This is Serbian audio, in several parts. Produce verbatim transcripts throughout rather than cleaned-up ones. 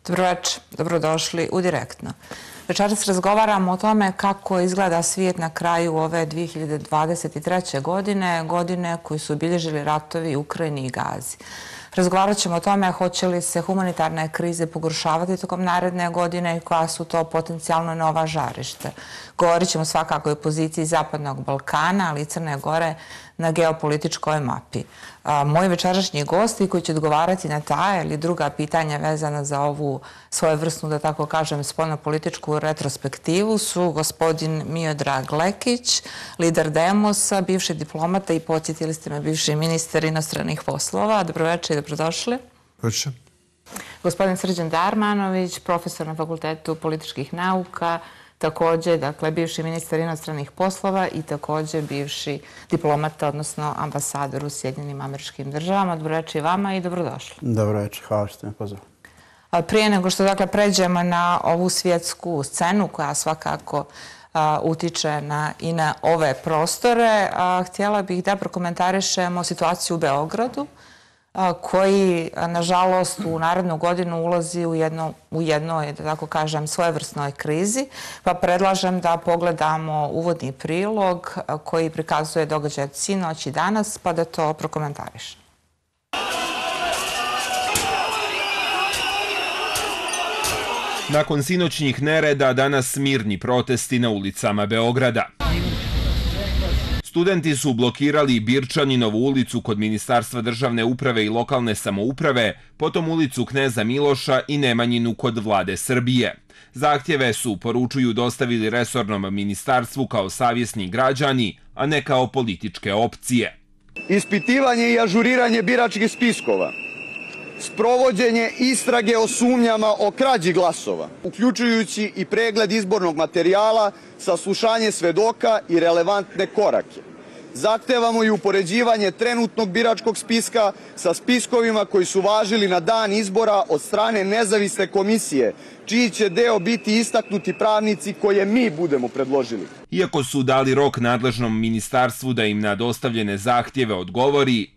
Dobroveče, dobrodošli u Direktno. Večeras razgovaramo o tome kako izgleda svijet na kraju ove dvije hiljade dvadeset treće. godine, godine koji su obilježili ratovi u Ukrajini i Gazi. Razgovarat ćemo o tome hoće li se humanitarne krize pogoršavati tokom naredne godine i koja su to potencijalno nova žarište. Govorit ćemo svakako i o poziciji Zapadnog Balkana, ali i Crne Gore na geopolitičkoj mapi. Moji večerašnji gosti koji će odgovarati na ta ili druga pitanja vezana za ovu svojevrsnu, da tako kažem, spoljnopolitičku retrospektivu su gospodin Miodrag Lekić, lider Demosa, bivši diplomata i podsjetili ste me bivši ministar inostranih poslova. Dobroveče i dobrodošli. Dobroveče. Gospodin Srđan Darmanović, profesor na Fakultetu političkih nauka, također, dakle, bivši ministar inostranih poslova i također bivši diplomata, odnosno ambasador u Sjedinjenim Američkim Državama. Dobroveče i vama i dobrodošli. Dobroveče, hvala što ste me pozvali. Prije nego što, dakle, pređemo na ovu svjetsku scenu koja svakako utiče i na ove prostore, htjela bih da prokomentarišemo situaciju u Beogradu, koji, nažalost, u narednu godinu ulazi u jednoj, da tako kažem, svojevrsnoj krizi, pa predlažem da pogledamo uvodni prilog koji prikazuje događaj od sinoć i danas, pa da to prokomentarišemo. Nakon sinoćnjih nereda, danas mirni protesti na ulicama Beograda. Studenti su blokirali Birčaninovu ulicu kod Ministarstva državne uprave i lokalne samouprave, potom ulicu Kneza Miloša i Nemanjinu kod Vlade Srbije. Zahtjeve su, poručuju, dostavili resornom ministarstvu kao savjesni građani, a ne kao političke opcije. Ispitivanje i ažuriranje biračkih spiskova, sprovođenje istrage o sumnjama o krađi glasova, uključujući i pregled izbornog materijala, saslušanje svedoka i relevantne korake. Zahtevamo i upoređivanje trenutnog biračkog spiska sa spiskovima koji su važili na dan izbora od strane nezavisne komisije, čiji će deo biti istaknuti pravnici koje mi budemo predložili. Iako su dali rok nadležnom ministarstvu da im na dostavljene zahtjeve odgovori,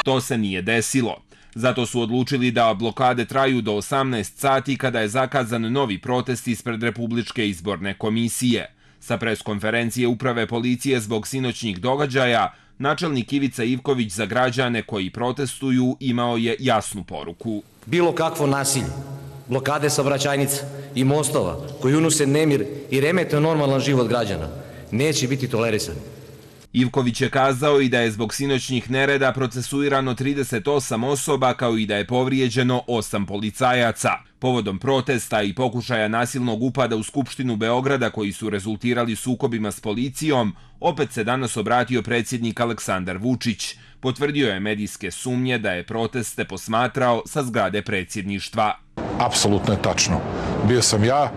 to se nije desilo. Zato su odlučili da blokade traju do osamnaest sati kada je zakazan novi protest ispred Republičke izborne komisije. Sa preskonferencije Uprave policije zbog sinoćnjih događaja, načelnik Ivica Ivković za građane koji protestuju imao je jasnu poruku. Bilo kakvo nasilje, blokade saobraćajnica i mostova koji unose nemir i remete normalan život građana neće biti tolerisani. Ivković je kazao i da je zbog sinoćnjih nereda procesuirano trideset osam osoba kao i da je povrijeđeno osam policajaca. Povodom protesta i pokušaja nasilnog upada u Skupštinu Beograda koji su rezultirali sukobima s policijom, opet se danas obratio predsjednik Aleksandar Vučić. Potvrdio je medijske sumnje da je proteste posmatrao sa zgrade predsjedništva. Apsolutno je tačno. Bio sam ja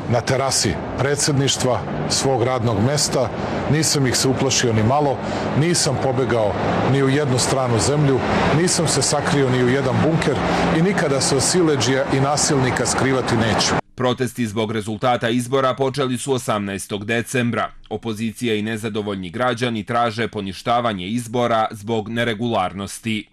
na terasi predsjedništva svog radnog mesta, nisam ih se uplašio ni malo, nisam pobegao ni u jednu stranu zemlju, nisam se sakrio ni u jedan bunker i nikada se od siledžija i nasilnika skrivati neću. Protesti zbog rezultata izbora počeli su osamnaestog decembra. Opozicija i nezadovoljni građani traže poništavanje izbora zbog neregularnosti.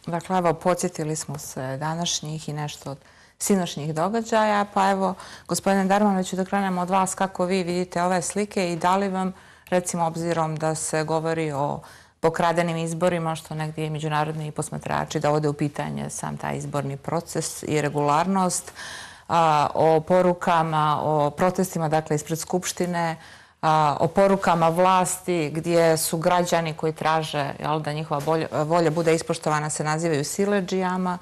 Dakle, evo, podsjetili smo se današnjih i nešto od sinoćnjih događaja, pa evo, gospodine Darmanoviću, da krenemo od vas kako vi vidite ove slike i da li vam, recimo, obzirom da se govori o pokradenim izborima, što negdje i međunarodni posmatrači dovode u pitanje sam taj izborni proces i regularnost, o porukama, o protestima, dakle, ispred Skupštine, o porukama vlasti gdje su građani koji traže da njihova volja bude ispoštovana se nazivaju siledžijama,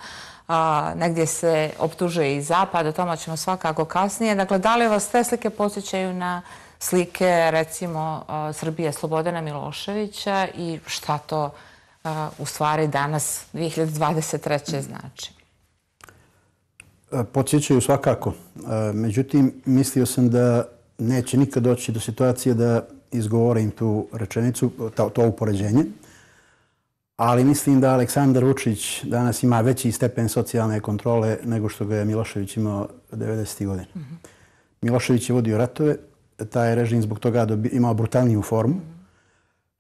negdje se optužuje i Zapad, o tome ćemo svakako kasnije. Dakle, da li vas te slike podsjećaju na slike, recimo, Srbije Slobodana Miloševića i šta to u stvari danas dvije hiljade dvadeset treće. znači? Podsjećaju svakako. Međutim, mislio sam da neće nikad doći do situacije da izgovorim tu rečenicu, to upoređenje. Ali mislim da Aleksandar Vučić danas ima veći stepen socijalne kontrole nego što ga je Milošević imao devedesetih godina. Milošević je vodio ratove, taj režim zbog toga imao brutalniju formu.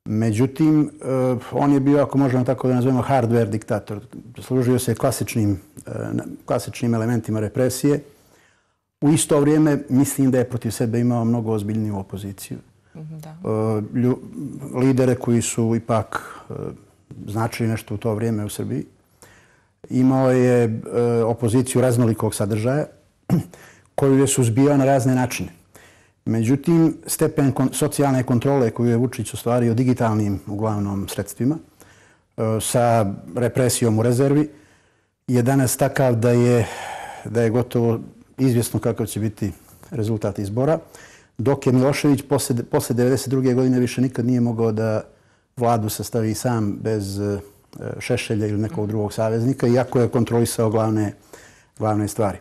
Međutim, on je bio, ako možemo tako da nazovemo, hardware diktator. Služio se klasičnim, klasičnim elementima represije. U isto vrijeme mislim da je protiv sebe imao mnogo ozbiljniju opoziciju. Da. Lidere koji su ipak značili nešto u to vrijeme u Srbiji. Imao je opoziciju raznolikog sadržaja koju je suzbijao na razne načine. Međutim, stepen socijalne kontrole koju je Vučić ostvario digitalnim, uglavnom, sredstvima, sa represijom u rezervi, je danas takav da je, da je gotovo izvjesno kakav će biti rezultat izbora, dok je Milošević posle, posle devedeset druge godine više nikad nije mogao da vladu sastavi sam bez Šešelja ili nekog drugog saveznika, iako je kontrolisao glavne, glavne stvari.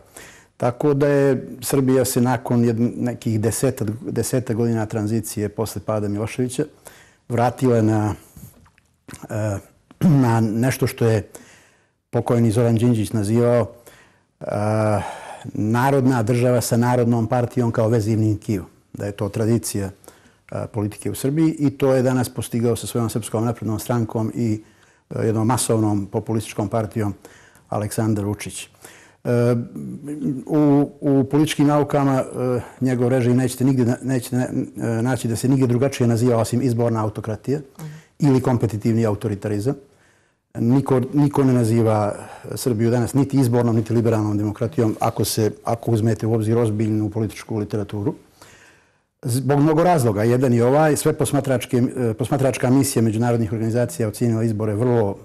Tako da je Srbija se nakon nekih deseta, deseta godina tranzicije posle pada Miloševića vratila na, na nešto što je pokojni Zoran Đinđić nazivao narodna država sa narodnom partijom kao vezivnim tkivom. Da je to tradicija politike u Srbiji i to je danas postigao sa svojom Srpskom naprednom strankom i jednom masovnom populističkom partijom Aleksandar Vučić. U, u političkim naukama njegov režim nećete, nigdje, nećete naći da se nigdje drugačije naziva osim izborna autokratija ili kompetitivni autoritarizam. Niko, niko ne naziva Srbiju danas niti izbornom, niti liberalnom demokratijom ako, se, ako uzmete u obzir ozbiljnu političku literaturu. Zbog mnogo razloga. Jedan je ovaj, sve posmatračka misija međunarodnih organizacija ocenila izbore vrlo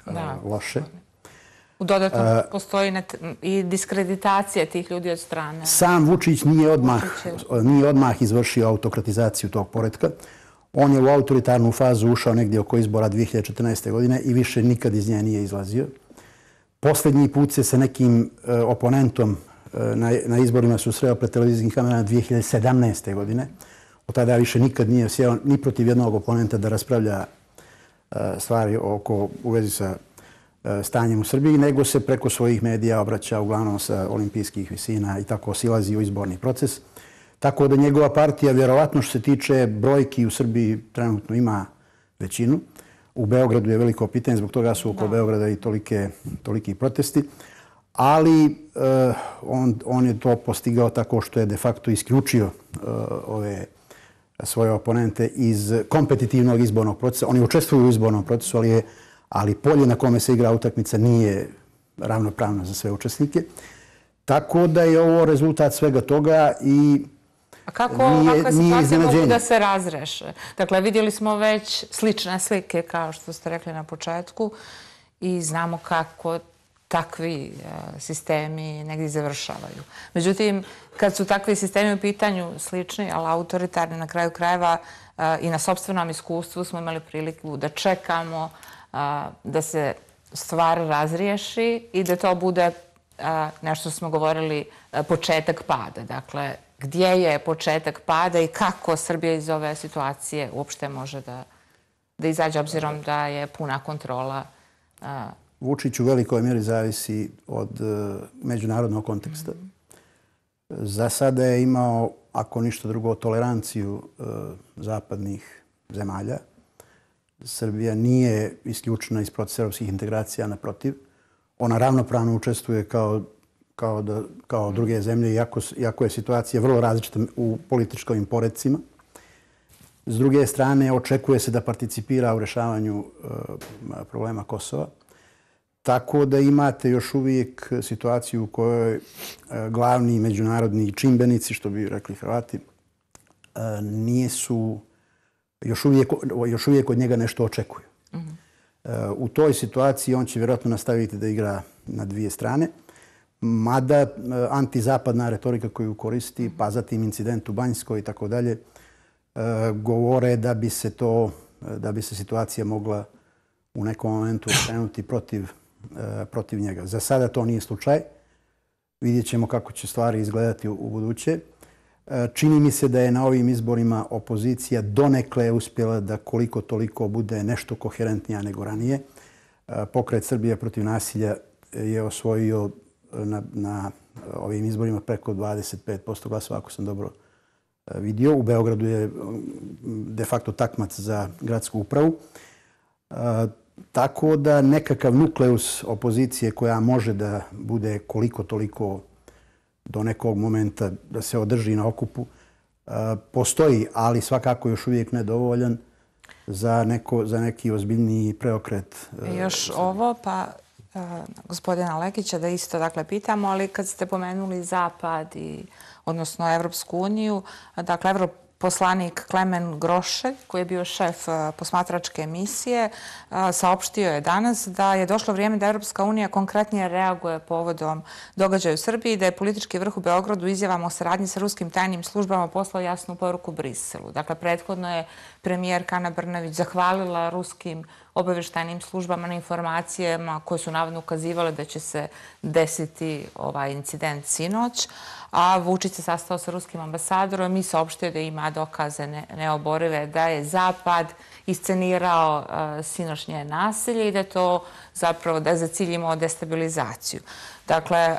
da, loše. U dodatno postoji i diskreditacija tih ljudi od strane. Sam Vučić nije odmah, nije odmah izvršio autokratizaciju tog poretka. On je u autoritarnu fazu ušao negdje oko izbora dvije hiljade četrnaeste. godine i više nikad iz nje nije izlazio. Posljednji put se sa nekim oponentom na, na izborima susreo pred televizijskim kamerama dvije hiljade sedamnaeste. godine. Od tada više nikad nije sjeo ni protiv jednog oponenta da raspravlja stvari oko, u vezi sa stanjem u Srbiji, nego se preko svojih medija obraća uglavnom sa olimpijskih visina i tako silazi u izborni proces. Tako da njegova partija, vjerovatno što se tiče brojki u Srbiji, trenutno ima većinu. U Beogradu je veliko pitanje, zbog toga su oko Beograda i tolike, toliki protesti. Ali uh, on, on je to postigao tako što je de facto isključio uh, ove svoje oponente iz kompetitivnog izbornog procesa. Oni učestvuju u izbornom procesu, ali, je, ali polje na kome se igra utakmica nije ravnopravno za sve učesnike. Tako da je ovo rezultat svega toga i A kako ovakva situacija mogu da se razreše? Dakle, vidjeli smo već slične slike, kao što ste rekli na početku, i znamo kako takvi sistemi negdje završavaju. Međutim, kad su takvi sistemi u pitanju slični, ali autoritarni, na kraju krajeva i na sopstvenom iskustvu smo imali priliku da čekamo da se stvar razriješi i da to bude nešto smo govorili početak pada. Dakle, gdje je početak pada i kako Srbija iz ove situacije uopšte može da, da izađe, obzirom da je puna kontrola. Vučić u velikoj mjeri zavisi od uh, međunarodnog konteksta. Mm. Za sada je imao, ako ništa drugo, toleranciju uh, zapadnih zemalja. Srbija nije isključena iz procesa europskih integracija, naprotiv. Ona ravnopravno učestvuje kao Kao, da, kao druge zemlje, iako, iako je situacija vrlo različita u političkim poredcima. S druge strane, očekuje se da participira u rješavanju uh, problema Kosova. Tako da imate još uvijek situaciju u kojoj uh, glavni međunarodni čimbenici, što bi rekli Hrvati, uh, nisu, još uvijek, još uvijek od njega nešto očekuju. Mm-hmm. uh, u toj situaciji on će vjerojatno nastaviti da igra na dvije strane. Mada antizapadna retorika koju koristi, pa zatim incident u Banjskoj i tako dalje, govore da bi se to, da bi se situacija mogla u nekom momentu okrenuti protiv, protiv njega. Za sada to nije slučaj. Vidjet ćemo kako će stvari izgledati u buduće. Čini mi se da je na ovim izborima opozicija donekle uspjela da koliko toliko bude nešto koherentnija nego ranije. Pokret Srbija protiv nasilja je osvojio na, na ovim izborima preko dvadeset pet posto glasova, ako sam dobro vidio. U Beogradu je de facto takmac za gradsku upravu. Tako da nekakav nukleus opozicije koja može da bude koliko toliko do nekog momenta da se održi na okupu, postoji, ali svakako još uvijek nedovoljan za, neko, za neki ozbiljniji preokret. Još ovo, pa gospodina Lekića da isto dakle pitamo, ali kad ste pomenuli Zapad i odnosno Evropsku uniju, dakle evroposlanik Klemen Grošelj, koji je bio šef posmatračke misije, saopštio je danas da je došlo vrijeme da Evropska unija konkretnije reaguje povodom događaja u Srbiji, da je politički vrh u Beogradu izjavama o saradnji sa ruskim tajnim službama poslao jasnu poruku Briselu. Dakle, prethodno je premijerka Ana Brnabić zahvalila ruskim obavještajnim službama na informacijama koje su navodno ukazivale da će se desiti ovaj incident sinoć, a Vučić se sastao sa ruskim ambasadorom i saopštio da ima dokaze neoborive da je Zapad iscenirao sinoćnje nasilje i da to zapravo da je za cilj imao destabilizaciju. Dakle,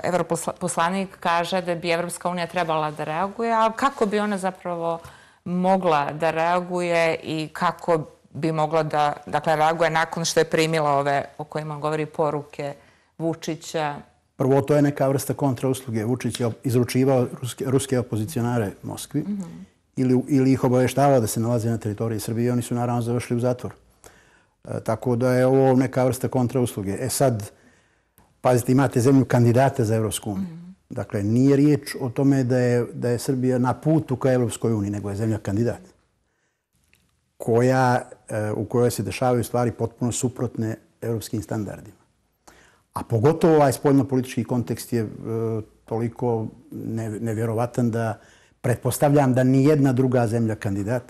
evroposlanik kaže da bi Evropska unija trebala da reaguje, a kako bi ona zapravo mogla da reaguje i kako bi mogla da dakle, reaguje nakon što je primila ove o kojima govori poruke Vučića? Prvo, to je neka vrsta kontrausluge. Vučić je izručivao ruske, ruske opozicionare Moskvi mm -hmm. ili, ili ih obavještavao da se nalaze na teritoriji Srbije i oni su naravno završili u zatvor. E, tako da je ovo neka vrsta kontrausluge. E sad, pazite, imate zemlju kandidata za Evropsku uniju. Mm -hmm. Dakle, nije riječ o tome da je, da je Srbija na putu ka Evropskoj uniji, nego je zemlja kandidat koja, u kojoj se dešavaju stvari potpuno suprotne evropskim standardima. A pogotovo ovaj spoljno-politički kontekst je toliko nevjerovatan da pretpostavljam da ni jedna druga zemlja kandidat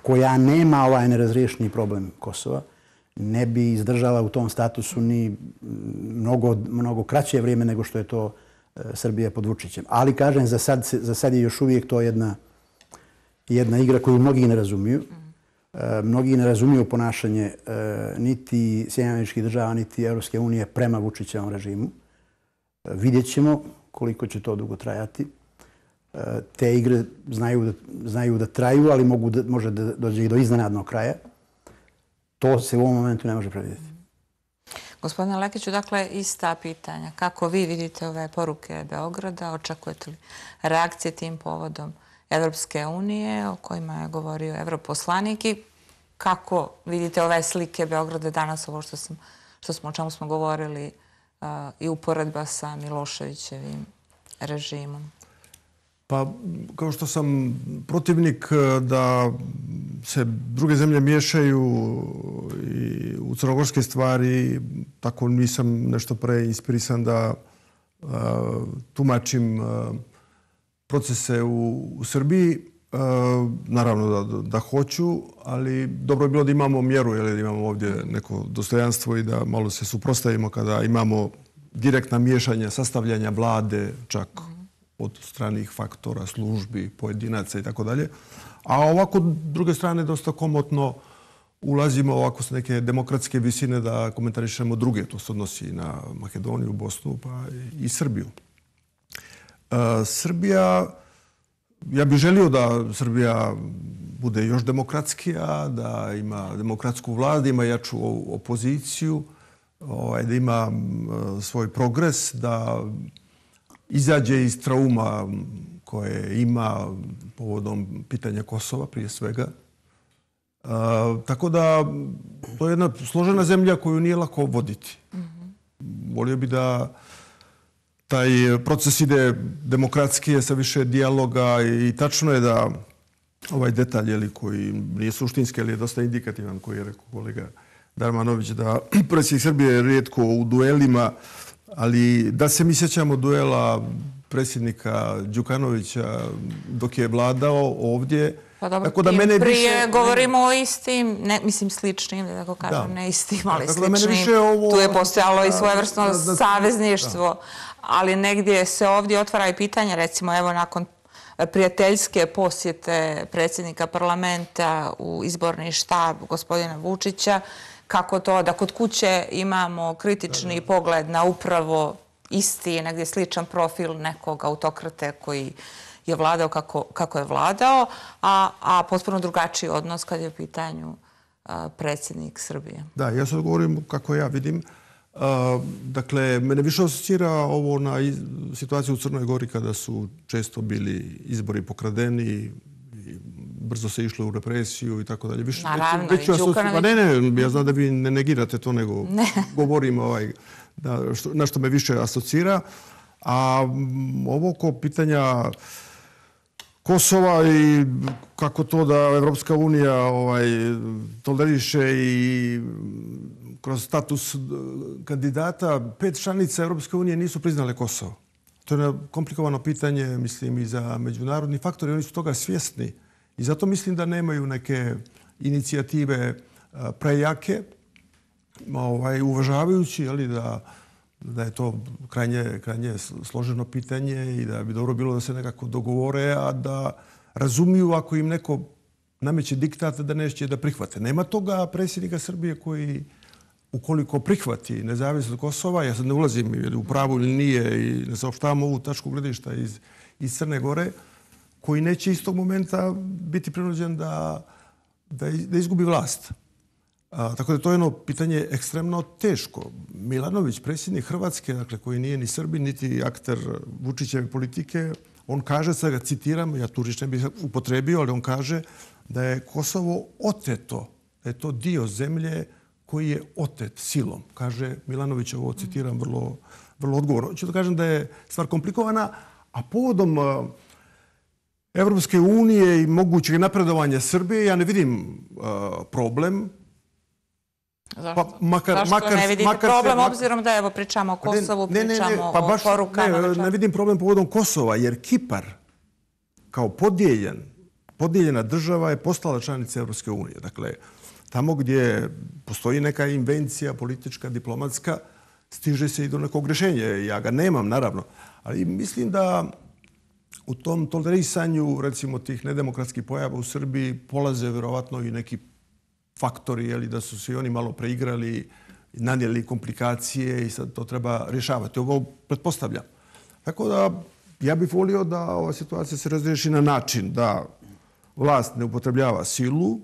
koja nema ovaj nerazriješeni problem Kosova ne bi izdržala u tom statusu ni mnogo, mnogo kraće vrijeme nego što je to Srbija pod Vučićem. Ali, kažem, za sad, za sad je još uvijek to jedna, jedna igra koju mnogi ne razumiju. Mnogi ne razumiju ponašanje niti Sjedinjenih Američkih Država, niti Evropske unije prema Vučićevom režimu. Vidjet ćemo koliko će to dugo trajati. Te igre znaju da, znaju da traju, ali mogu da, može da dođe i do iznenadnog kraja. To se u ovom momentu ne može predvidjeti. Gospodine Lekiću, dakle, ista pitanja. Kako vi vidite ove poruke Beograda? Očekujete li reakcije tim povodom Evropske unije, o kojima je govorio evroposlanik, i kako vidite ove slike Beograda danas, ovo što, sam, što smo, o čemu smo govorili, uh, i uporedba sa Miloševićevim režimom? Pa, kao što sam protivnik da se druge zemlje miješaju i u crnogorske stvari, tako nisam nešto preinspirisan da uh, tumačim uh, procese u, u Srbiji. E, naravno da, da hoću, ali dobro je bilo da imamo mjeru, jer da imamo ovdje neko dostojanstvo i da malo se suprotstavimo kada imamo direktna miješanja, sastavljanja vlade, čak od stranih faktora, službi, pojedinaca i tako dalje. A ovako, druge strane, dosta komotno ulazimo ovako s neke demokratske visine da komentarišemo druge. To se odnosi na Makedoniju, Bosnu pa i Srbiju. Srbija, ja bih želio da Srbija bude još demokratskija, da ima demokratsku vladu, ima jaču opoziciju, da ima svoj progres, da izađe iz trauma koje ima povodom pitanja Kosova prije svega. Tako da to je jedna složena zemlja koju nije lako voditi. Volio bi da taj proces ide demokratski, sa više dijaloga i tačno je da ovaj detalj, jeli, koji nije suštinski, ali je dosta indikativan, koji je rekao kolega Darmanović, da predsjednik Srbije je rijetko u duelima, ali da se mi sjećamo duela predsjednika Đukanovića dok je vladao ovdje. Pa dobro, tako da mene prije više, govorimo o istim, ne, mislim sličnim, da tako kažem, da. Ne istim, ali da, sličnim. Ovo, tu je postojalo da, i svojevrsno da, da, savezništvo, da. Ali negdje se ovdje otvara i pitanje, recimo evo nakon prijateljske posjete predsjednika parlamenta u izborni štab gospodina Vučića, kako to da kod kuće imamo kritični da, da. pogled na upravo isti, negdje sličan profil nekog autokrate koji je vladao kako, kako je vladao, a, a potpuno drugačiji odnos kad je u pitanju a, predsjednik Srbije. Da, ja sad govorim kako ja vidim. A, dakle, mene više asocira ovo na iz, situaciju u Crnoj Gori kada su često bili izbori pokradeni i brzo se išlo u represiju i tako dalje. Više, Naravno, već, već i Đukanović. Ne, ne, ja znam da vi ne negirate to, nego ne. govorim ovaj, da, što, na što me više asocira. A m, ovo ko pitanja Kosova i kako to da Evropska unija ovaj, toleriše i kroz status kandidata, pet članica Evropske unije nisu priznale Kosovo. To je komplikovano pitanje, mislim, i za međunarodni faktor i oni su toga svjesni. I zato mislim da nemaju neke inicijative prejake, ovaj, uvažavajući jeli, da, da je to krajnje, krajnje složeno pitanje i da bi dobro bilo da se nekako dogovore, a da razumiju ako im neko nameće diktat da neće da prihvate. Nema toga predsjednika Srbije koji, ukoliko prihvati nezavisnost Kosova, ja sad ne ulazim ili u pravu ili nije i ne saopštavam ovu tačku gledišta iz, iz Crne Gore, koji neće iz tog momenta biti prinuđen da, da, da izgubi vlast. A, tako da to je jedno pitanje ekstremno teško. Milanović, predsjednik Hrvatske, dakle, koji nije ni Srbin, niti akter Vučićeve politike, on kaže, sad ga citiram, ja tu riječ ne bih upotrebio, ali on kaže da je Kosovo oteto, da je to dio zemlje koji je otet silom. Kaže Milanović, ovo citiram vrlo, vrlo odgovorno. Ću da kažem da je stvar komplikovana, a povodom uh, Evropske unije i mogućeg napredovanja Srbije, ja ne vidim uh, problem. Zašto? Pa, makar, Zašto makar, ne vidite makar problem, se, obzirom da evo pričamo o Kosovu, ne, ne, ne, pričamo pa o baš, porukama? Ne, ne vidim problem povodom Kosova, jer Kipar kao podijeljen, podijeljena država je postala članica Evropske unije. Dakle, tamo gdje postoji neka invencija politička, diplomatska, stiže se i do nekog rješenja. Ja ga nemam, naravno. Ali mislim da u tom tolerisanju, recimo, tih nedemokratskih pojava u Srbiji polaze vjerovatno i neki faktori, jeli, da su se i oni malo preigrali, nanijeli komplikacije i sad to treba rješavati. Ovo pretpostavljam. Tako da ja bih volio da ova situacija se razriješi na način da vlast ne upotrebljava silu,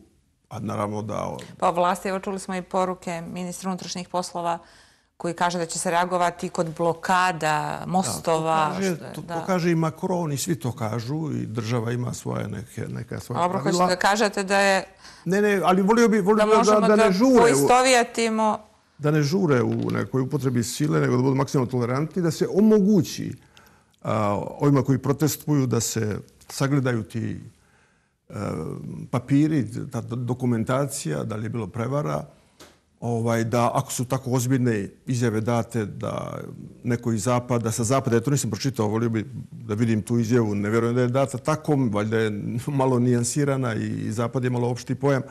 a naravno da... Pa vlasti, evo čuli smo i poruke ministra unutrašnjih poslova koji kaže da će se reagovati kod blokada mostova. Da, to, kaže, to, da. to kaže i Macron i svi to kažu i država ima svoje neke, neka svoja Dobro, pravila. hoćete da kažete da je... Ne, ne, ali volio bi, volio da možemo da, da, da ne žure poistovjetimo... Da ne žure u nekoj upotrebi sile, nego da budu maksimalno tolerantni, da se omogući a, ovima koji protestuju da se sagledaju ti a, papiri, ta dokumentacija, da li je bilo prevara, ovaj, da ako su tako ozbiljne izjave date da neko iz zapada, sa zapada, ja to nisam pročitao, volio bi da vidim tu izjavu, ne vjerujem da je data tako, valjda je malo nijansirana i zapad je malo opšti pojam.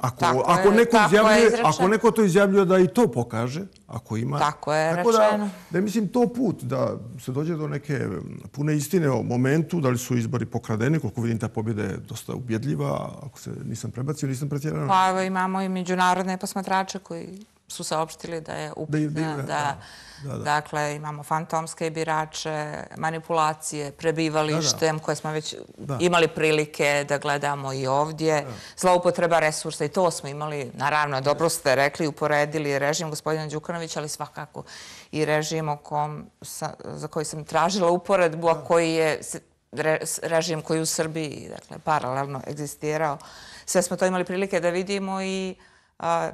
Ako, tako ako, je, neko izjavljuje, je ako neko to izjavljuje da i to pokaže, ako ima... Tako je tako rečeno. Da, da je, mislim, to put da se dođe do neke pune istine o momentu, da li su izbori pokradeni, koliko vidim ta pobjeda je dosta ubjedljiva, ako se nisam prebacio, nisam pretjerano. Pa evo imamo i međunarodne posmatrače koji su saopštili da je upitna, da, da, da, da, da. Dakle, imamo fantomske birače, manipulacije, prebivalištem, da, da. koje smo već da. imali prilike da gledamo i ovdje, da. zloupotreba resursa i to smo imali, naravno, dobro ste rekli, uporedili režim gospodina Đukanovića, ali svakako i režim o kom, sa, za koji sam tražila uporedbu, a koji je re, režim koji u Srbiji, dakle, paralelno egzistirao. Sve smo to imali prilike da vidimo i a,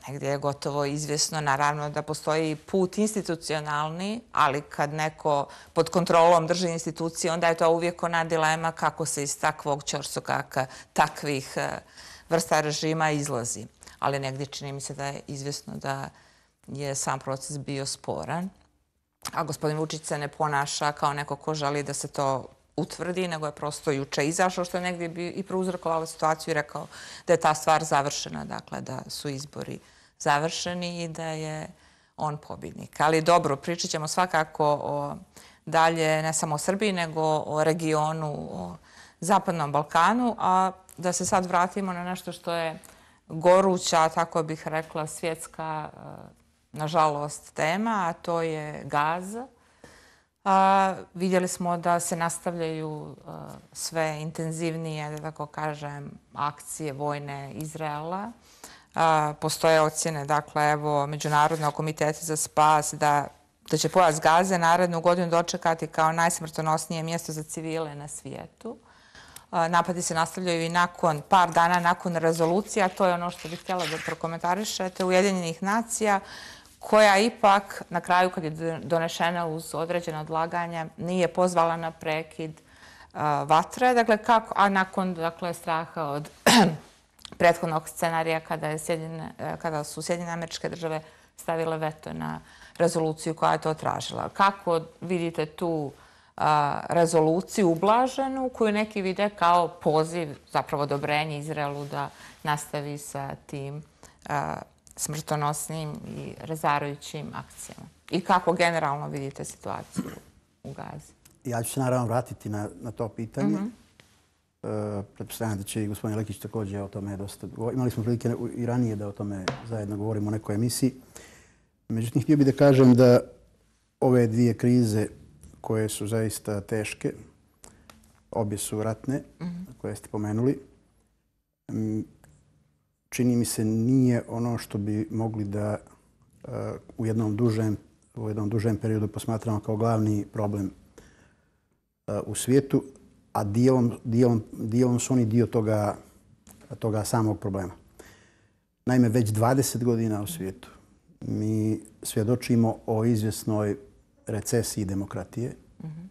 negdje je gotovo izvjesno, naravno, da postoji put institucionalni, ali kad neko pod kontrolom drži institucije, onda je to uvijek ona dilema kako se iz takvog ćorsokaka, takvih vrsta režima izlazi. Ali negdje čini mi se da je izvjesno da je sam proces bio sporan, a gospodin Vučić se ne ponaša kao neko ko želi da se to utvrdi, nego je prosto juče izašao, što je negdje bi i prouzrokovalo situaciju i rekao da je ta stvar završena, dakle da su izbori završeni i da je on pobjednik. Ali dobro, pričat ćemo svakako o dalje, ne samo o Srbiji, nego o regionu, o Zapadnom Balkanu, a da se sad vratimo na nešto što je goruća, tako bih rekla, svjetska, nažalost, tema, a to je gaz. Vidjeli smo da se nastavljaju sve intenzivnije, da tako kažem, akcije vojne Izraela. Postoje ocjene, dakle, evo, Međunarodnog komiteta za spas da da će pojas Gaze narednu godinu dočekati kao najsmrtonosnije mjesto za civile na svijetu. Napadi se nastavljaju i nakon, par dana nakon rezolucija, to je ono što bih htjela da prokomentarišete, Ujedinjenih nacija, koja ipak na kraju, kad je donešena uz određene odlaganja, nije pozvala na prekid vatre, dakle, kako, a nakon dakle, straha od prethodnog scenarija kada, je Sjedine, kada su Sjedinjene Američke Države stavile veto na rezoluciju koja je to tražila. Kako vidite tu a, rezoluciju ublaženu koju neki vide kao poziv, zapravo odobrenje Izraelu da nastavi sa tim a, smrtonosnim i razarajućim akcijama? I kako generalno vidite situaciju u Gazi? Ja ću se naravno vratiti na, na to pitanje. Mm-hmm. E, pretpostavljam da će i gospodin Lekić također o tome dosta... Imali smo prilike i ranije da o tome zajedno govorimo u nekoj emisiji. Međutim, htio bih da kažem da ove dvije krize koje su zaista teške, obje su ratne, mm-hmm. koje ste pomenuli, čini mi se nije ono što bi mogli da uh, u jednom dužem, u jednom dužem periodu posmatramo kao glavni problem uh, u svijetu, a dijelom, dijelom, dijelom su oni dio toga, toga samog problema. Naime, već dvadeset godina u svijetu mi svjedočimo o izvjesnoj recesiji demokratije mm-hmm.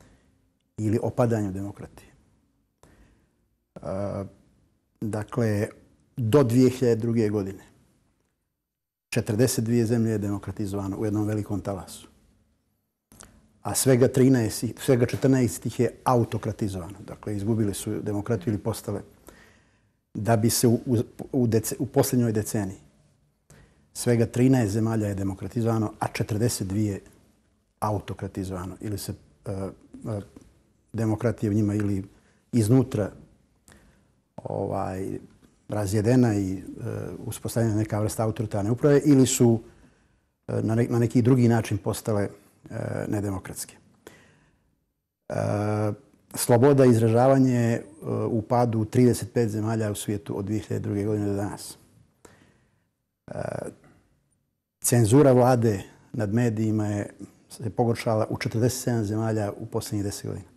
ili opadanju demokratije. Uh, dakle, do dvije hiljade druge. godine četrdeset dvije zemlje je demokratizovano u jednom velikom talasu. A svega, trinaest, svega četrnaest ih je autokratizovano. Dakle, izgubili su demokratiju ili postale. Da bi se u, u, dece, u posljednjoj deceniji svega trinaest zemalja je demokratizovano, a četrdeset dvije autokratizovano. Ili se uh, uh, demokratija u njima ili iznutra ovaj, razjedena i uh, uspostavljena neka vrsta autoritarne uprave ili su uh, na, ne, na neki drugi način postale uh, nedemokratske. Uh, sloboda izražavanja je uh, u padu trideset pet zemalja u svijetu od dvije hiljade druge. godine do danas. Uh, cenzura vlade nad medijima je se pogoršala u četrdeset sedam zemalja u posljednjih deset godina.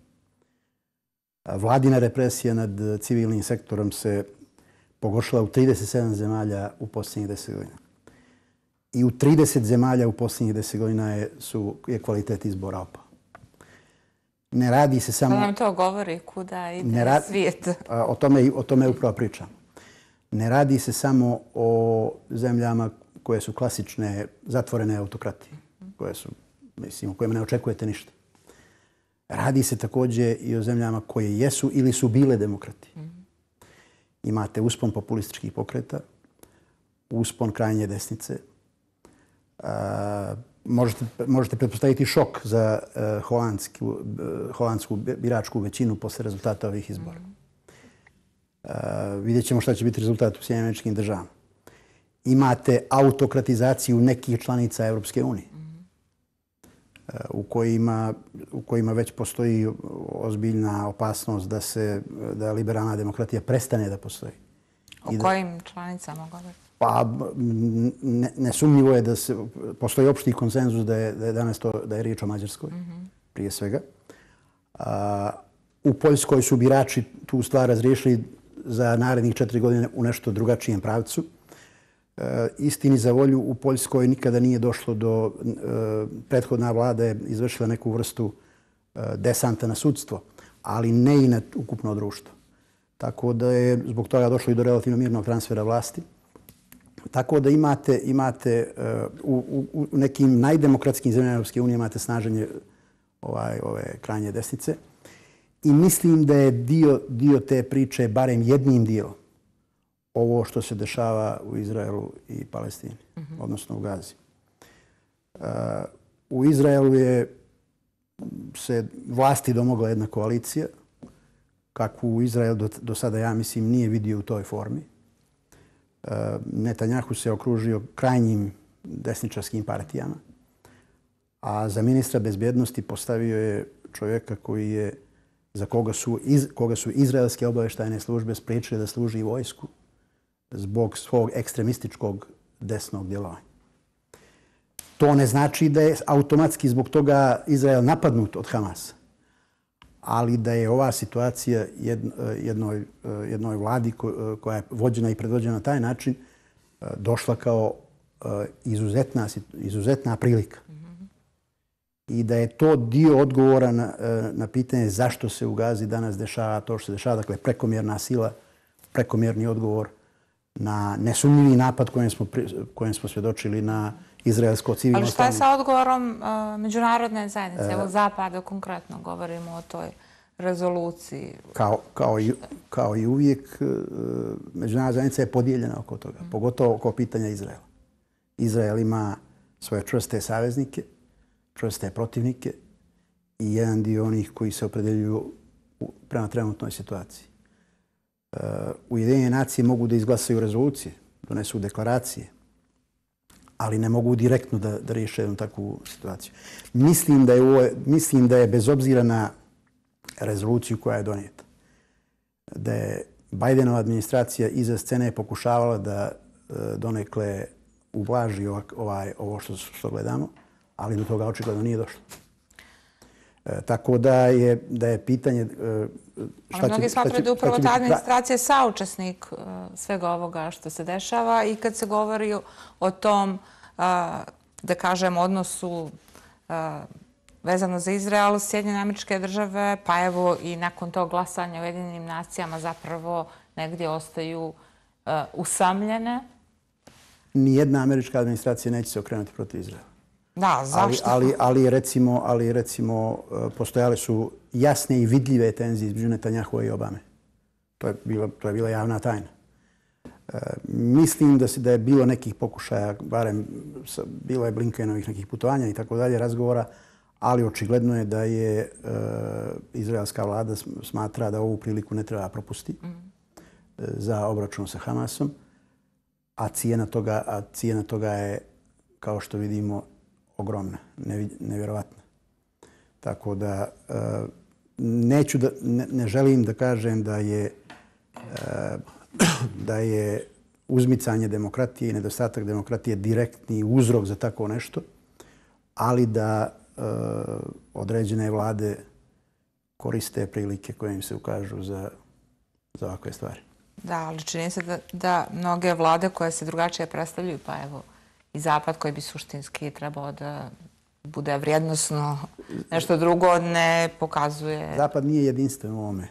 Uh, vladina represija nad civilnim sektorom se pogoršala u trideset sedam zemalja u posljednjih deset godina. I u trideset zemalja u posljednjih deset godina je, su, je kvalitet izbora opao. Ne radi se samo... Pa nam to govori kuda ide radi, svijet. O tome, o tome upravo pričam. Ne radi se samo o zemljama koje su klasične zatvorene autokratije, koje su, mislim, u kojima ne očekujete ništa. Radi se također i o zemljama koje jesu ili su bile demokratije. Imate uspon populističkih pokreta, uspon krajnje desnice. Uh, možete, možete pretpostaviti šok za uh, holandsku, uh, holandsku biračku većinu posle rezultata ovih izbora. Uh, vidjet ćemo šta će biti rezultat u Sjedinjenim Američkim Državama. Imate autokratizaciju nekih članica Europske unije uh, u kojima, u kojima već postoji ozbiljna opasnost da se da liberalna demokratija prestane da postoji. O da, kojim članicama govorite? Pa ne, nesumnjivo je da se postoji opšti konsenzus da je, da je danas to da je riječ o Mađarskoj, mm-hmm. prije svega. A, u Poljskoj su birači tu stvar razriješili za narednih četiri godine u nešto drugačijem pravcu. E, istini za volju, u Poljskoj nikada nije došlo do... E, prethodna vlada je izvršila neku vrstu e, desanta na sudstvo, ali ne i na ukupno društvo. Tako da je zbog toga došlo i do relativno mirnog transfera vlasti. Tako da imate, imate uh, u, u nekim najdemokratskim zemljama Europske unije imate snaženje ovaj, ove krajnje desnice. I mislim da je dio, dio te priče, barem jednim dijelom, ovo što se dešava u Izraelu i Palestini, mm-hmm. odnosno u Gazi. Uh, u Izraelu je se vlasti domogla jedna koalicija, kakvu Izrael do, do sada, ja mislim, nije vidio u toj formi. Netanjahu se okružio krajnjim desničarskim partijama. a za ministra bezbjednosti postavio je čovjeka koji je, za koga su, iz, koga su izraelske obavještajne službe spriječile da služi vojsku zbog svog ekstremističkog desnog djelovanja. To ne znači da je automatski zbog toga Izrael napadnut od Hamasa, ali da je ova situacija jednoj, jednoj vladi koja je vođena i predvođena na taj način došla kao izuzetna, izuzetna prilika. I da je to dio odgovora na, na pitanje zašto se u Gazi danas dešava to što se dešava. Dakle, prekomjerna sila, prekomjerni odgovor na nesumnjivi napad kojem smo, kojem smo svjedočili na izraelsko civilno Ali šta je sa odgovorom uh, međunarodne zajednice? Evo Zapada konkretno govorimo o toj rezoluciji. Kao, kao, i, kao i uvijek, uh, međunarodna zajednica je podijeljena oko toga, mm. pogotovo oko pitanja Izraela. Izrael ima svoje čvrste saveznike, čvrste protivnike i jedan dio onih koji se opredeljuju prema trenutnoj situaciji. Uh, Ujedinjene nacije mogu da izglasaju rezolucije, donesu deklaracije, ali ne mogu direktno da, da riješe jednu takvu situaciju. Mislim da, je ovo, mislim da je bez obzira na rezoluciju koja je donijeta, da je Bajdenova administracija iza scene pokušavala da uh, donekle ublaži ovaj, ovo što, što gledamo, ali do toga očigledno nije došlo. E, tako da je, da je pitanje... E, šta ali mnogi smatraju da upravo ta administracija je saučesnik uh, svega ovoga što se dešava i kad se govori o tom, uh, da kažem, odnosu uh, vezano za Izrael, Sjedinjene Američke Države, pa evo i nakon tog glasanja u Ujedinjenim nacijama zapravo negdje ostaju uh, usamljene. Nijedna američka administracija neće se okrenuti protiv Izraela. Da, zašto? Ali, ali, ali, recimo, ali recimo postojale su jasne i vidljive tenzije između Netanjahua i Obame. To je bila, to je bila javna tajna. E, mislim da, se, da je bilo nekih pokušaja, barem bilo je Blinkenovih nekih putovanja i tako dalje, razgovora, ali očigledno je da je e, izraelska vlada smatra da ovu priliku ne treba propustiti mm. za obračun sa Hamasom, a cijena toga, a cijena toga je, kao što vidimo, ogromna, nevjerovatna. Tako da neću da, ne, ne želim da kažem da je, da je uzmicanje demokratije i nedostatak demokratije direktni uzrok za tako nešto, ali da određene vlade koriste prilike koje im se ukažu za, za ovakve stvari. Da, ali čini se da, da mnoge vlade koje se drugačije predstavljaju, pa evo, i Zapad koji bi suštinski trebao da bude vrijednosno nešto drugo, ne pokazuje... Zapad nije jedinstven u ovome.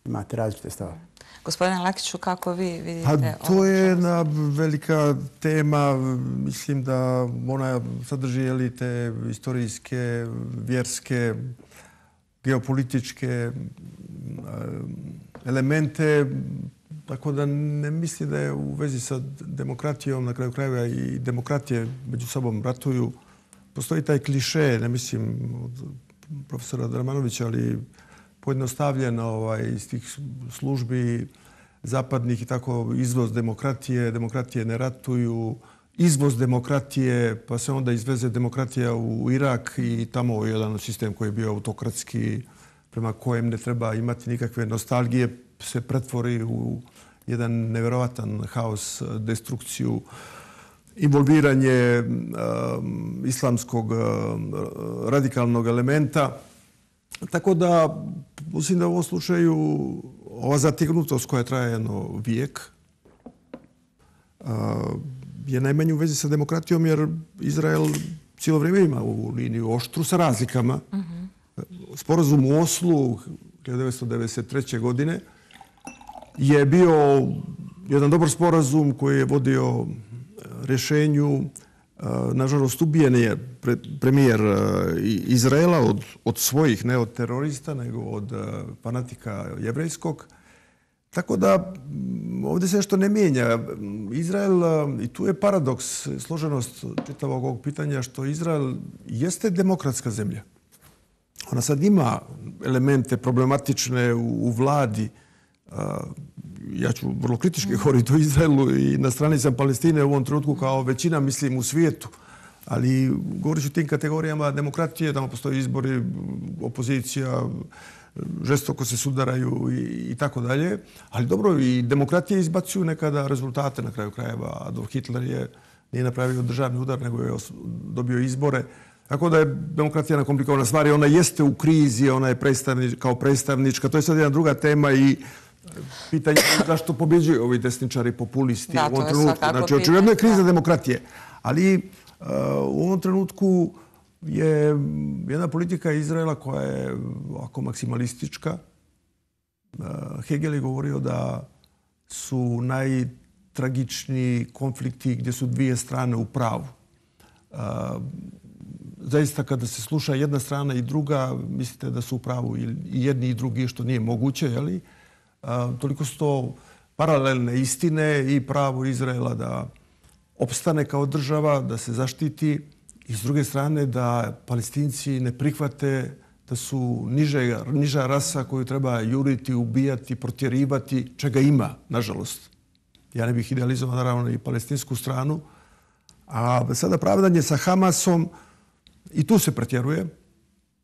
Imate različite stavove. Gospodine Lekiću, kako vi vidite... Pa to je jedna velika tema. Mislim da ona sadrži jeli, te istorijske, vjerske, geopolitičke elemente. Tako da ne mislim da je u vezi sa demokratijom, na kraju krajeva i demokratije među sobom ratuju. Postoji taj kliše, ne mislim od profesora Dramanovića, ali pojednostavljeno ovaj, iz tih službi zapadnih i tako izvoz demokratije, demokratije ne ratuju, izvoz demokratije, pa se onda izveze demokratija u Irak i tamo je jedan sistem koji je bio autokratski, prema kojem ne treba imati nikakve nostalgije, se pretvori u jedan nevjerovatan haos, destrukciju, involviranje um, islamskog uh, radikalnog elementa. Tako da, mislim da u ovom slučaju ova zategnutost koja traje jedno vijek uh, je najmanje u vezi sa demokratijom, jer Izrael cijelo vrijeme ima ovu liniju oštru sa razlikama. Mm-hmm. Sporazum u Oslu hiljadu devetsto devedeset treće. godine je bio jedan dobar sporazum koji je vodio rješenju. Nažalost, ubijen je premijer Izraela od, od svojih, ne od terorista, nego od fanatika jevrejskog. Tako da ovdje se nešto ne mijenja. Izrael, i tu je paradoks, složenost čitavog ovog pitanja, što Izrael jeste demokratska zemlja. Ona sad ima elemente problematične u, u vladi. Ja ću vrlo kritički govoriti o Izraelu i na strani sam Palestine u ovom trenutku kao većina, mislim, u svijetu. Ali govorit ću o tim kategorijama demokratije, tamo postoje izbori, opozicija, žestoko se sudaraju i tako dalje. Ali dobro, i demokratije izbacuju nekada rezultate na kraju krajeva. Adolf Hitler je nije napravio državni udar, nego je dobio izbore. Tako da je demokratija na komplikovana stvar i ona jeste u krizi, ona je predstavnič, kao predstavnička. To je sad jedna druga tema i pitanje je zašto pobjeđuju ovi desničari, populisti da, u ovom trenutku. Znači, očigledno je kriza demokratije. Ali uh, u ovom trenutku je jedna politika Izraela koja je ovako maksimalistička. Uh, Hegel je govorio da su najtragičniji konflikti gdje su dvije strane u pravu. Uh, Zaista, kada se sluša jedna strana i druga, mislite da su u pravu i jedni i drugi, što nije moguće, jeli? A, toliko su to paralelne istine i pravo Izraela da opstane kao država, da se zaštiti i s druge strane da Palestinci ne prihvate da su niže, niža rasa koju treba juriti, ubijati, protjerivati, čega ima, nažalost. Ja ne bih idealizovao naravno i palestinsku stranu. A sada pravdanje sa Hamasom, i tu se pretjeruje.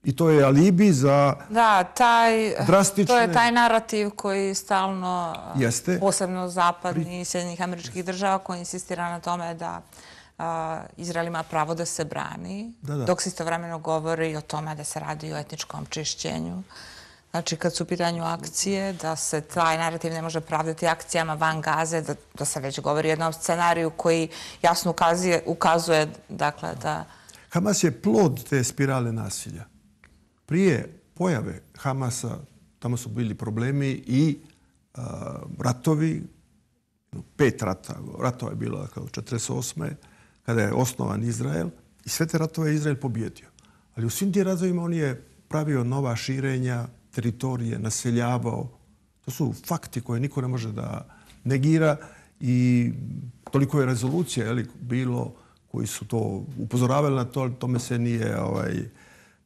I to je alibi za da, taj, drastične... to je taj narativ koji stalno, jeste. Posebno zapadni i Sjedinjenih Američkih Država, koji insistira na tome da uh, Izrael ima pravo da se brani, da, da. dok se istovremeno govori o tome da se radi o etničkom čišćenju. Znači, kad su u pitanju akcije, da se taj narativ ne može pravdati akcijama van Gaze, da, da se već govori o jednom scenariju koji jasno ukazuje, ukazuje dakle, da... Hamas je plod te spirale nasilja. Prije pojave Hamasa, tamo su bili problemi i uh, ratovi, pet rata, ratova je bilo kao četrdeset osme kada je osnovan Izrael i sve te ratove je Izrael pobjedio. Ali u svim tim ratovima on je pravio nova širenja, teritorije, naseljavao. To su fakti koje niko ne može da negira i toliko je rezolucija jeli, bilo koji su to upozoravali na to, tome se nije ovaj,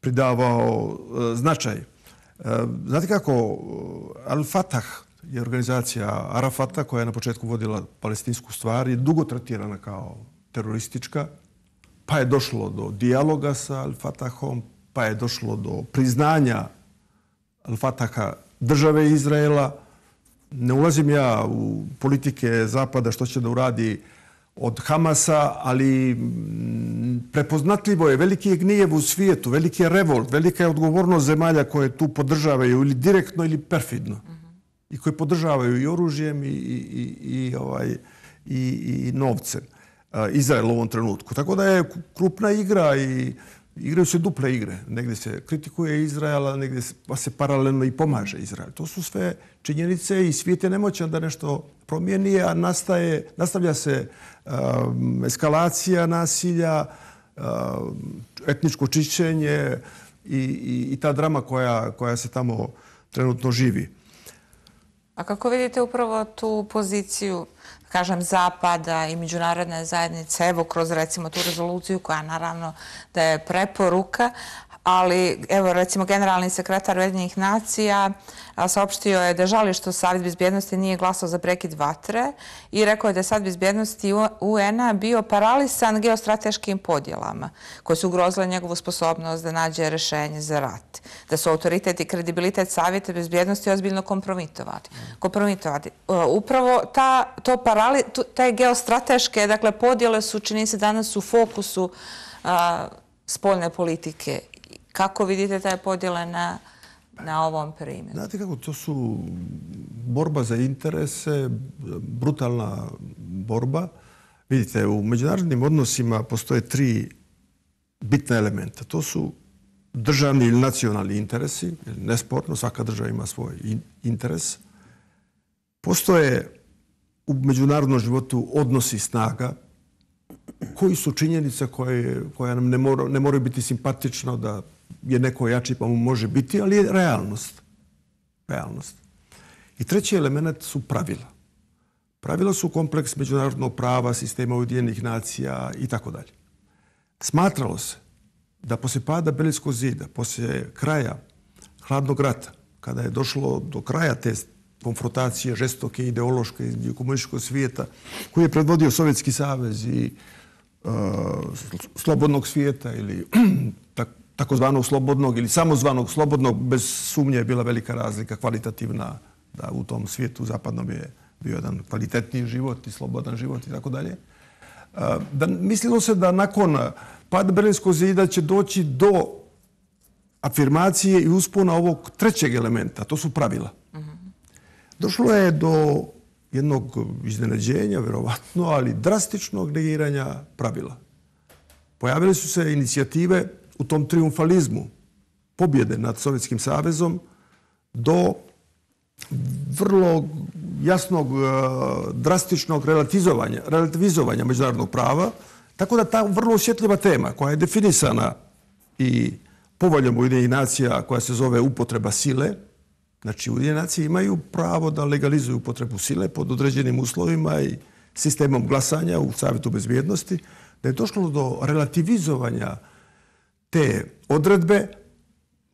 pridavao uh, značaj. Uh, znate kako, Al-Fatah je organizacija Arafata koja je na početku vodila palestinsku stvar i dugo tretirana kao teroristička, pa je došlo do dijaloga sa Al-Fatahom, pa je došlo do priznanja Al-Fataha države Izraela. Ne ulazim ja u politike Zapada što će da uradi od Hamasa, ali prepoznatljivo je, veliki je gnjev u svijetu, veliki je revolt, velika je odgovornost zemalja koje tu podržavaju ili direktno ili perfidno. Mm-hmm. I koje podržavaju i oružjem i, i, i, ovaj, i, i novcem. Izrael u ovom trenutku. Tako da je krupna igra i igraju se duple igre. Negdje se kritikuje Izrael, a negdje se, pa se paralelno i pomaže Izrael. To su sve činjenice i svijet je nemoćan da nešto promijeni, a nastaje, nastavlja se um, eskalacija nasilja, um, etničko čišćenje i, i, i ta drama koja, koja se tamo trenutno živi. A kako vidite upravo tu poziciju, kažem, Zapada i međunarodne zajednice, evo kroz recimo tu rezoluciju koja naravno da je preporuka, ali evo recimo generalni sekretar Ujedinjenih nacija saopštio je da žali što Savjet bezbjednosti nije glasao za prekid vatre i rekao je da je Savjet bezbjednosti U N-a bio paralisan geostrateškim podjelama koje su ugrozile njegovu sposobnost da nađe rješenje za rat. Da su autoritet i kredibilitet Savjeta bezbjednosti ozbiljno kompromitovati. kompromitovati. Upravo ta, to parali, te geostrateške dakle, podjele su, čini se, danas u fokusu a, spoljne politike. Kako vidite taj podjele na, na ovom primjeru? Znate kako, to su borba za interese, brutalna borba. Vidite, u međunarodnim odnosima postoje tri bitna elementa. To su državni ili nacionalni interesi, nesporno, svaka država ima svoj interes. Postoje u međunarodnom životu odnosi snaga, koji su činjenice koje, koje nam ne, mora, ne moraju biti simpatično da je neko jači pa mu može biti, ali je realnost. Realnost. I treći element su pravila. Pravila su kompleks međunarodnog prava, sistema Ujedinjenih nacija i tako dalje. Smatralo se da poslije pada Berlinskog zida, poslije kraja hladnog rata, kada je došlo do kraja te konfrontacije žestoke ideološke između komunističkog svijeta koji je predvodio Sovjetski savez i slobodnog svijeta ili takozvanog slobodnog ili samozvanog slobodnog, bez sumnje je bila velika razlika kvalitativna, da u tom svijetu zapadnom je bio jedan kvalitetniji život i slobodan život i tako dalje. Da mislilo se da nakon pada Berlinskog zida će doći do afirmacije i uspona ovog trećeg elementa, to su pravila. Došlo je do jednog iznenađenja, verovatno, ali drastičnog negiranja pravila. Pojavile su se inicijative u tom triumfalizmu pobjede nad Sovjetskim savezom do vrlo jasnog, drastičnog relativizovanja, relativizovanja međunarodnog prava, tako da ta vrlo osjetljiva tema koja je definisana i poveljom Ujedinjenih nacija koja se zove upotreba sile, znači Ujedinjene nacije imaju pravo da legalizuju upotrebu sile pod određenim uslovima i sistemom glasanja u Savjetu bezbjednosti, da je došlo do relativizovanja te odredbe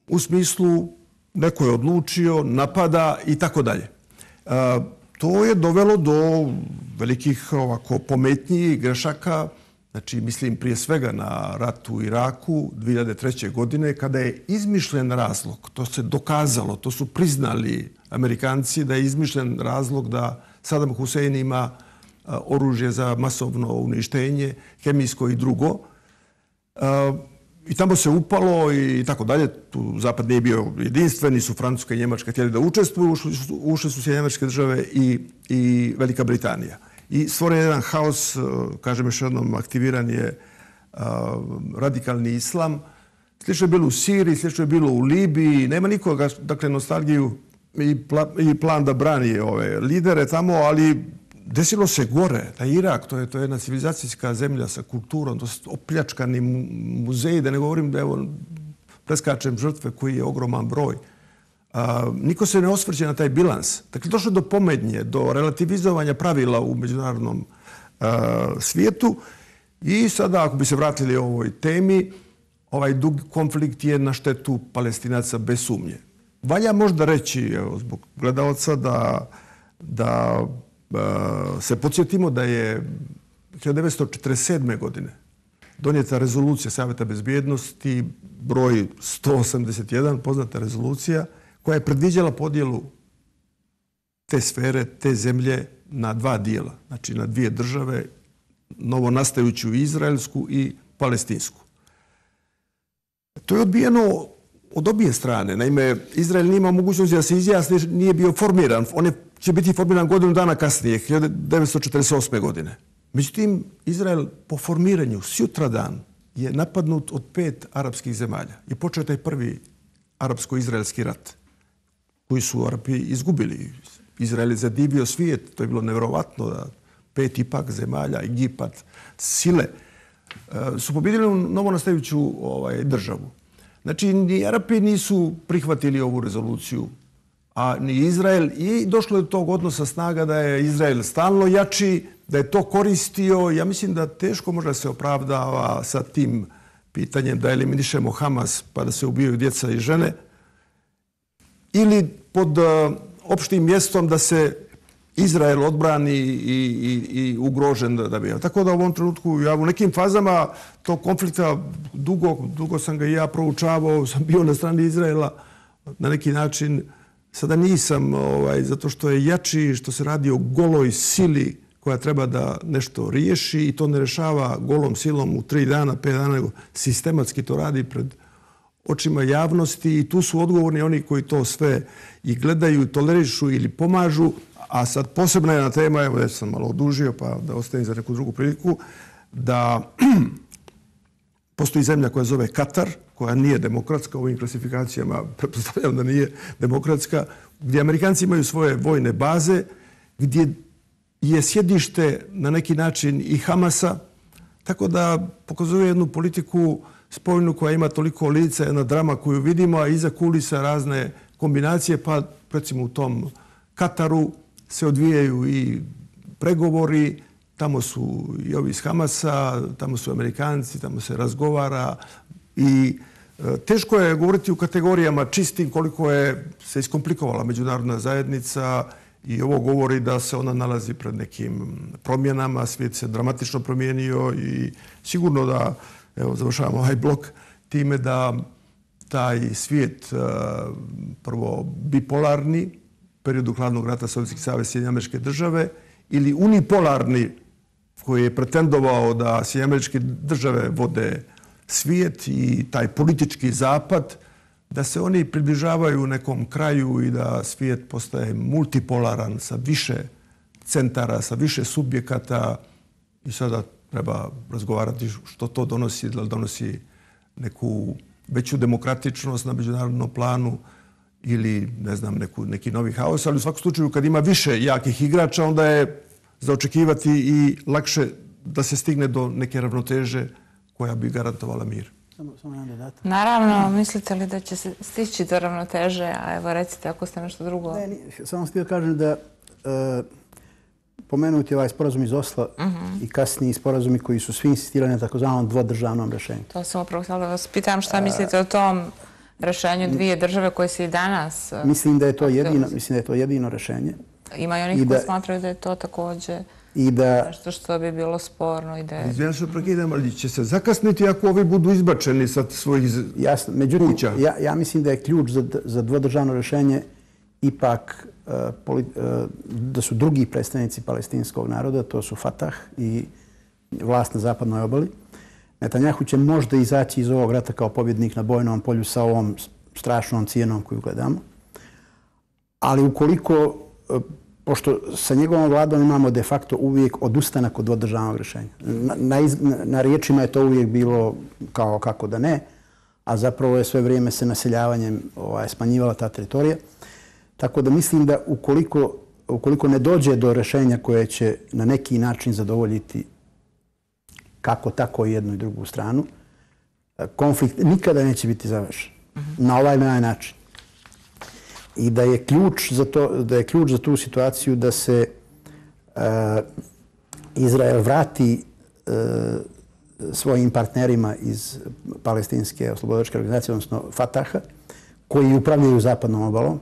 u smislu neko je odlučio, napada i tako dalje. To je dovelo do velikih ovako pometnji i grešaka, znači mislim prije svega na rat u Iraku dvije hiljade treće. godine kada je izmišljen razlog, to se dokazalo, to su priznali Amerikanci da je izmišljen razlog da Saddam Hussein ima oružje za masovno uništenje, hemijsko i drugo. I tamo se upalo i tako dalje. Tu Zapad nije bio jedinstven, nisu Francuska i Njemačka htjeli da učestvuju, ušle su Sjedinjene Američke Države i, i Velika Britanija. I stvoren je jedan haos, kažem još jednom, aktiviran je uh, radikalni islam. Slično je bilo u Siriji, slično je bilo u Libiji. Nema nikoga, dakle, nostalgiju i, pla, i plan da brani ove lidere tamo, ali desilo se gore. Da Irak, to je, to je jedna civilizacijska zemlja sa kulturom, to su opljačkani muzeji, da ne govorim da evo preskačem žrtve koji je ogroman broj. A, niko se ne osvrće na taj bilans. Dakle, došlo do pomednje, do relativizovanja pravila u međunarodnom a, svijetu i sada, ako bi se vratili ovoj temi, ovaj dug konflikt je na štetu Palestinaca bez sumnje. Valja možda reći, evo, zbog gledalca, da, da a, se podsjetimo da je hiljadu devetsto četrdeset sedme. godine donijeta rezolucija Savjeta bezbjednosti broj sto osamdeset jedan, poznata rezolucija, koja je predviđala podjelu te sfere, te zemlje na dva dijela. Znači na dvije države, novonastajuću izraelsku i palestinsku. To je odbijeno od obje strane. Naime, Izrael nije imao mogućnosti da se izjasni, nije bio formiran. On je, će biti formiran godinu dana kasnije, hiljadu devetsto četrdeset osme. godine. Međutim, Izrael po formiranju sutradan je napadnut od pet arapskih zemalja. I počeo taj prvi arapsko-izraelski rat koji su Arapi izgubili. Izrael je zadivio svijet, to je bilo nevjerovatno da pet ipak zemalja, Egipat, sile, su pobjedili u novonastajuću ovaj, državu. Znači, ni Arapi nisu prihvatili ovu rezoluciju, a ni Izrael. I došlo je do tog odnosa snaga da je Izrael stalno jači, da je to koristio. Ja mislim da teško možda se opravdava sa tim pitanjem da eliminišemo Hamas pa da se ubijaju djeca i žene, ili pod uh, opštim mjestom da se Izrael odbrani i, i, i ugrožen da, da bi. Tako da u ovom trenutku ja u nekim fazama tog konflikta dugo, dugo sam ga i ja proučavao, sam bio na strani Izraela na neki način. Sada nisam, ovaj, zato što je jači, što se radi o goloj sili koja treba da nešto riješi i to ne rešava golom silom u tri dana, pet dana, nego sistematski to radi pred očima javnosti i tu su odgovorni oni koji to sve i gledaju, tolerišu ili pomažu. A sad posebna jedna tema, evo već sam malo odužio pa da ostavim za neku drugu priliku, da postoji zemlja koja zove Katar, koja nije demokratska u ovim klasifikacijama, pretpostavljam da nije demokratska, gdje Amerikanci imaju svoje vojne baze, gdje je sjedište na neki način i Hamasa, tako da pokazuje jednu politiku spoljnu koja ima toliko lica, jedna drama koju vidimo, a iza kulisa razne kombinacije, pa recimo u tom Kataru se odvijaju i pregovori, tamo su i ovi iz Hamasa, tamo su Amerikanci, tamo se razgovara i e, teško je govoriti u kategorijama čistim koliko je se iskomplikovala međunarodna zajednica I ovo govori da se ona nalazi pred nekim promjenama, svijet se dramatično promijenio i sigurno da, evo, završavamo ovaj blok time da taj svijet, prvo bipolarni, periodu hladnog rata Sovjetski savez i Sjedinjene Američke Države, ili unipolarni, koji je pretendovao da Sjedinjene Američke Države vode svijet i taj politički zapad, da se oni približavaju nekom kraju i da svijet postaje multipolaran sa više centara, sa više subjekata i sada treba razgovarati što to donosi, da li donosi neku veću demokratičnost na međunarodnom planu ili, ne znam, neku, neki novi haos, ali u svakom slučaju kad ima više jakih igrača, onda je za očekivati i lakše da se stigne do neke ravnoteže koja bi garantovala mir. Samo, samo jedan dodatak. Naravno, mislite li da će se stići do ravnoteže? A evo recite ako ste nešto drugo... Ne, nije, samo htio kažem da e, pomenuti ovaj sporazum iz Osla uh-huh. i kasniji sporazumi koji su svi insistirani na takozvanom dvodržavnom rješenju. To sam upravo htjela da vas pitam šta mislite o tom rješenju dvije države koje se i danas... Mislim da je to jedino, mislim da je to jedino rješenje. Ima i onih koji smatraju da je to također i da nešto što bi bilo sporno i da je... Izvijem se prekidam, ali će se zakasniti ako ovi budu izbačeni sa svojih Jasno. Međutim, ja, ja mislim da je ključ za, za dvodržavno rješenje ipak uh, poli, uh, da su drugi predstavnici palestinskog naroda, to su Fatah i vlast na zapadnoj obali. Netanjahu će možda izaći iz ovog rata kao pobjednik na bojnom polju sa ovom strašnom cijenom koju gledamo. Ali ukoliko, pošto sa njegovom vladom imamo de facto uvijek odustanak od dvodržavnog rješenja. Na, na, iz, na riječima je to uvijek bilo kao kako da ne, a zapravo je sve vrijeme se naseljavanjem ovaj, smanjivala ta teritorija. Tako da mislim da ukoliko, ukoliko ne dođe do rješenja koje će na neki način zadovoljiti kako tako i jednu i drugu stranu, konflikt nikada neće biti završen. Uh-huh. Na ovaj na ovaj način. I da je ključ za to, da je ključ za tu situaciju da se uh, Izrael vrati uh, svojim partnerima iz palestinske oslobodilačke organizacije, odnosno Fataha, koji upravljaju zapadnom obalom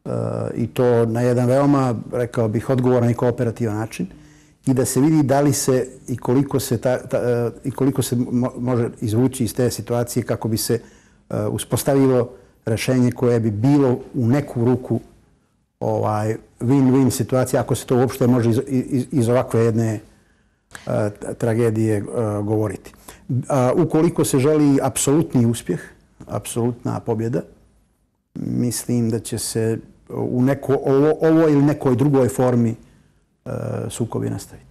uh, i to na jedan veoma, rekao bih, odgovoran i kooperativan način. I da se vidi da li se i koliko se, ta, ta, i koliko se mo, može izvući iz te situacije kako bi se uh, uspostavilo rješenje koje bi bilo u neku ruku ovaj, win-win situacija, ako se to uopšte može iz, iz, iz ovakve jedne uh, tragedije uh, govoriti. Uh, ukoliko se želi apsolutni uspjeh, apsolutna pobjeda, mislim da će se u neko, ovo, ovo ili nekoj drugoj formi sukobi nastaviti.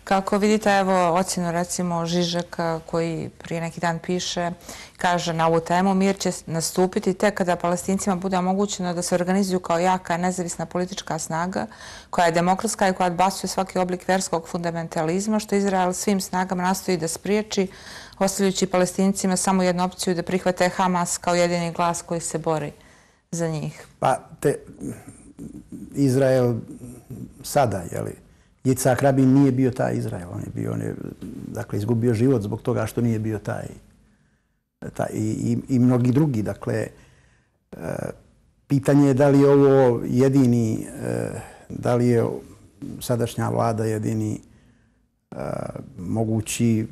Kako vidite, evo, ocjenu recimo Žižeka koji prije neki dan piše, kaže na ovu temu, mir će nastupiti tek kada Palestincima bude omogućeno da se organizuju kao jaka, nezavisna politička snaga koja je demokratska i koja odbacuje svaki oblik verskog fundamentalizma, što Izrael svim snagama nastoji da spriječi, ostavljajući Palestincima samo jednu opciju da prihvate Hamas kao jedini glas koji se bori za njih. Pa, te, Izrael sada, jeli, Jicak Rabin nije bio taj Izrael. On je bio, on je, dakle, izgubio život zbog toga što nije bio taj, taj i, i, i mnogi drugi. Dakle, e, pitanje je da li je ovo jedini, e, da li je sadašnja vlada jedini e, mogući,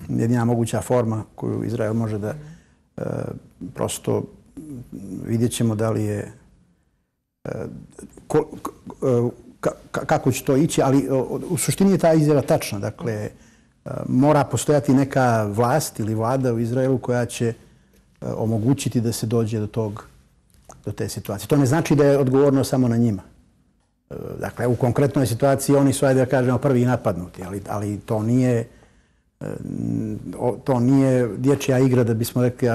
jedina moguća forma koju Izrael može da e, prosto vidjet ćemo da li je e, ko, ko, kako će to ići, ali u suštini je ta izjava tačna. Dakle, mora postojati neka vlast ili vlada u Izraelu koja će omogućiti da se dođe do tog, do te situacije. To ne znači da je odgovorno samo na njima. Dakle, u konkretnoj situaciji oni su, ajde da kažemo, prvi napadnuti, ali, ali to nije to nije dječja igra da bismo rekli,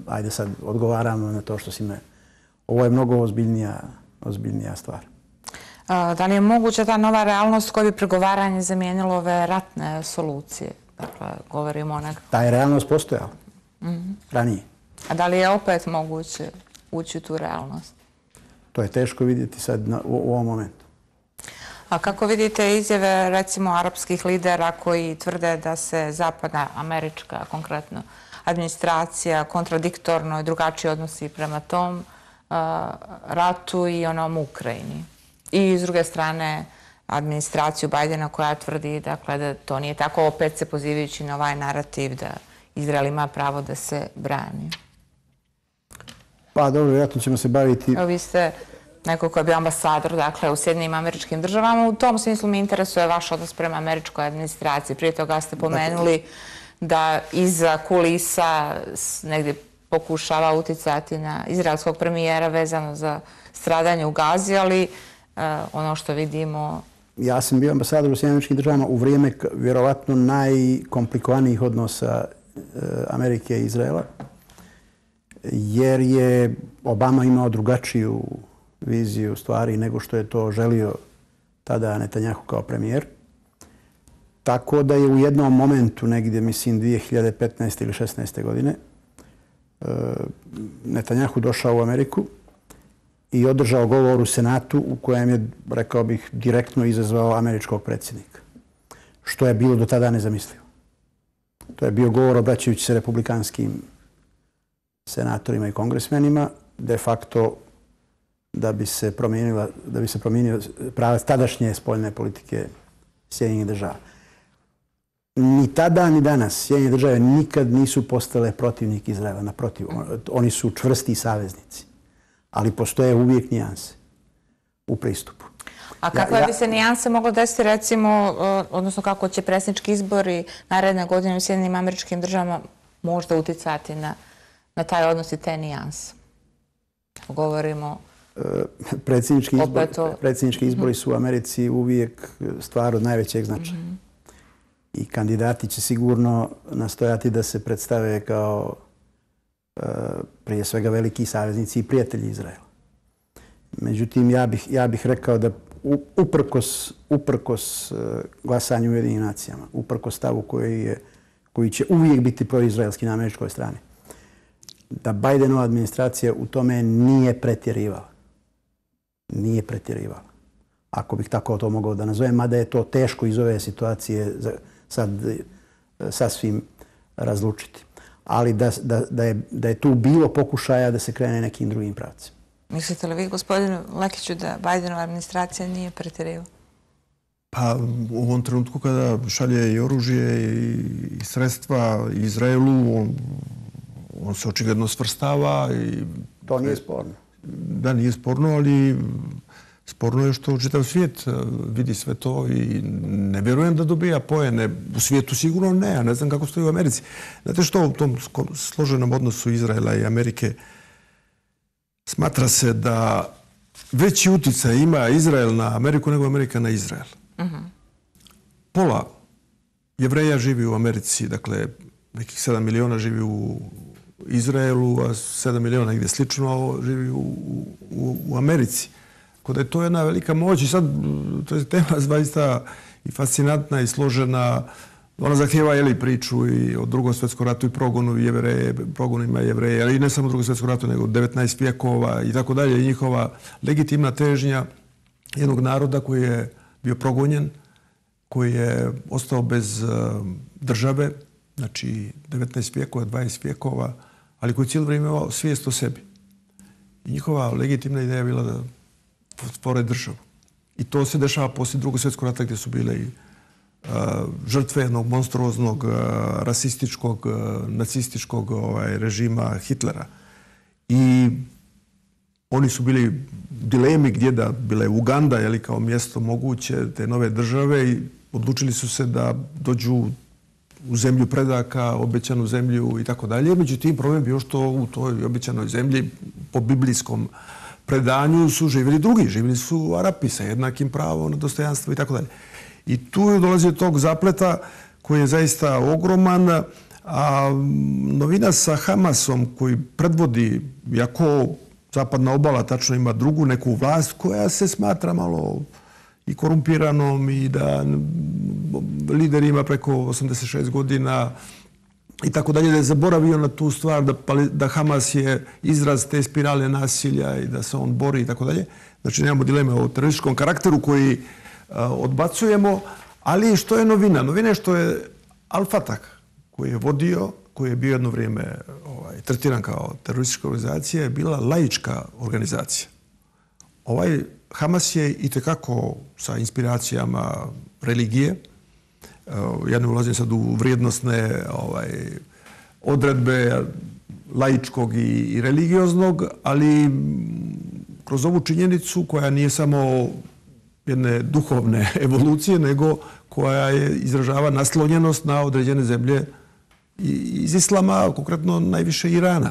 ajde sad odgovaramo na to što si me... Ovo je mnogo ozbiljnija, ozbiljnija stvar. Da li je moguća ta nova realnost koja bi pregovaranje zamijenilo ove ratne solucije? Dakle, govorimo o nekako... Ta je realnost postojala mm-hmm. ranije. A da li je opet moguće ući u tu realnost? To je teško vidjeti sad na, u, u ovom momentu. A kako vidite izjave, recimo, arapskih lidera koji tvrde da se zapadna američka, konkretno, administracija kontradiktorno i drugačije odnosi prema tom uh, ratu i onom Ukrajini? i s druge strane administraciju Bajdena koja tvrdi dakle, da to nije tako, opet se pozivajući na ovaj narativ da Izrael ima pravo da se brani. Pa dobro, vjerojatno ćemo se baviti... Evo, vi ste neko ko je bio ambasador dakle, u Sjedinjenim Američkim Državama. U tom smislu mi interesuje vaš odnos prema američkoj administraciji. Prije toga ste pomenuli da iza kulisa negdje pokušava uticati na izraelskog premijera vezano za stradanje u Gazi, ali ono što vidimo... Ja sam bio ambasador u Sjedinjenim Američkim Državama u vrijeme vjerovatno najkomplikovanijih odnosa Amerike i Izraela, jer je Obama imao drugačiju viziju stvari nego što je to želio tada Netanjahu kao premijer. Tako da je u jednom momentu, negdje mislim dvije hiljade petnaeste ili šesnaeste godine, Netanjahu došao u Ameriku i održao govor u Senatu u kojem je, rekao bih, direktno izazvao američkog predsjednika. Što je bilo do tada nezamislivo. To je bio govor obraćajući se republikanskim senatorima i kongresmenima, de facto da bi se promijenila, da bi se promijenio pravac tadašnje spoljne politike Sjedinjenih Država. Ni tada, ni danas Sjedinjene Države nikad nisu postale protivnik Izraela. Naprotiv, oni su čvrsti saveznici. Ali postoje uvijek nijanse u pristupu. A kakve ja, ja... bi se nijanse moglo desiti, recimo, odnosno kako će predsjednički izbori naredne godine u Sjedinjenim Američkim Državama možda uticati na, na taj odnos i te nijanse? Govorimo... Predsjednički, izbor, o... predsjednički izbori su u Americi uvijek stvar od najvećeg značaja. Mm-hmm. I kandidati će sigurno nastojati da se predstave kao uh, prije svega veliki saveznici i prijatelji Izraela. Međutim, ja bih, ja bih rekao da uprkos, uprkos uh, glasanju u Ujedinjenim nacijama, uprkos stavu koji, je, koji će uvijek biti proizraelski na američkoj strani, da Bajdenova administracija u tome nije pretjerivala. Nije pretjerivala. Ako bih tako to mogao da nazovem, mada je to teško iz ove situacije sad sasvim razlučiti. Ali da, da, da, je, da je tu bilo pokušaja da se krene nekim drugim pravcima. Mislite li vi, gospodinu Lekiću, da Bajdenova administracija nije pretjerivala? Pa u ovom trenutku kada šalje i oružje i sredstva Izraelu, on, on se očigledno svrstava. I, to nije sporno. Da, nije sporno, ali sporno je što čitav svijet vidi sve to i ne vjerujem da dobija poene. U svijetu sigurno ne, a ne znam kako stoji u Americi. Znate što u tom složenom odnosu Izraela i Amerike smatra se da veći uticaj ima Izrael na Ameriku nego Amerika na Izrael. Uh-huh. Pola Jevreja živi u Americi, dakle nekih sedam miliona živi u Izraelu, a sedam miliona negdje slično živi u, u, u Americi. Kod je to jedna velika moć i sad to je tema zaista i fascinantna i složena. Ona zahtijeva jeli, priču i o Drugom svjetskom ratu i progonu Jevreje, progonima Jevreja, ali i ne samo Drugom svjetskom ratu, nego devetnaest vijekova i tako dalje. I njihova legitimna težnja jednog naroda koji je bio progonjen, koji je ostao bez uh, države, znači devetnaest vijekova, dvadeset vijekova, ali koji cijelo vrijeme imao svijest o sebi. I njihova legitimna ideja je bila da stvore državu. I to se dešava poslije Drugog svjetskog rata gdje su bile i uh, žrtve jednog monstruoznog, uh, rasističkog, uh, nacističkog ovaj, režima Hitlera. I oni su bili u dilemi gdje da bila je Uganda jeli, kao mjesto moguće te nove države i odlučili su se da dođu u zemlju predaka, obećanu zemlju i tako dalje. Međutim, problem je bio što u toj obećanoj zemlji po biblijskom predanju su živjeli drugi. Živjeli su Arapi sa jednakim pravom na dostojanstvo i tako dalje. I tu je dolazio tog zapleta koji je zaista ogroman. A novina sa Hamasom koji predvodi, jako zapadna obala tačno ima drugu neku vlast koja se smatra malo i korumpiranom i da lider ima preko osamdeset šest godina i tako dalje, da je zaboravio na tu stvar da, da Hamas je izraz te spirale nasilja i da se on bori i tako dalje. Znači nemamo dileme o terorističkom karakteru koji uh, odbacujemo, ali što je novina? Novina je što je Al-Fatah koji je vodio, koji je bio jedno vrijeme ovaj, tretiran kao teroristička organizacija, je bila laička organizacija. Ovaj Hamas je itekako sa inspiracijama religije. Ja ne ulazim sad u vrijednosne ovaj, odredbe laičkog i, i religioznog, ali kroz ovu činjenicu koja nije samo jedne duhovne evolucije, nego koja je izražava naslonjenost na određene zemlje iz islama, konkretno najviše Irana.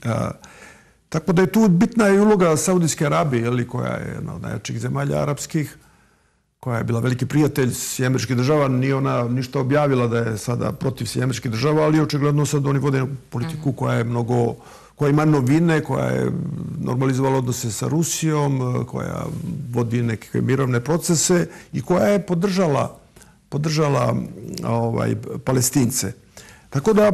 A, tako da je tu bitna i uloga Saudijske Arabije, jeli, koja je jedna od najjačih zemalja arapskih, koja je bila veliki prijatelj Sjedinjenih Američkih Država. Nije ona ništa objavila da je sada protiv Sjedinjenih Američkih Država, ali očigledno sad oni vode politiku koja je mnogo, koja ima novine, koja je normalizovala odnose sa Rusijom, koja vodi neke mirovne procese i koja je podržala, podržala ovaj, Palestince. Tako da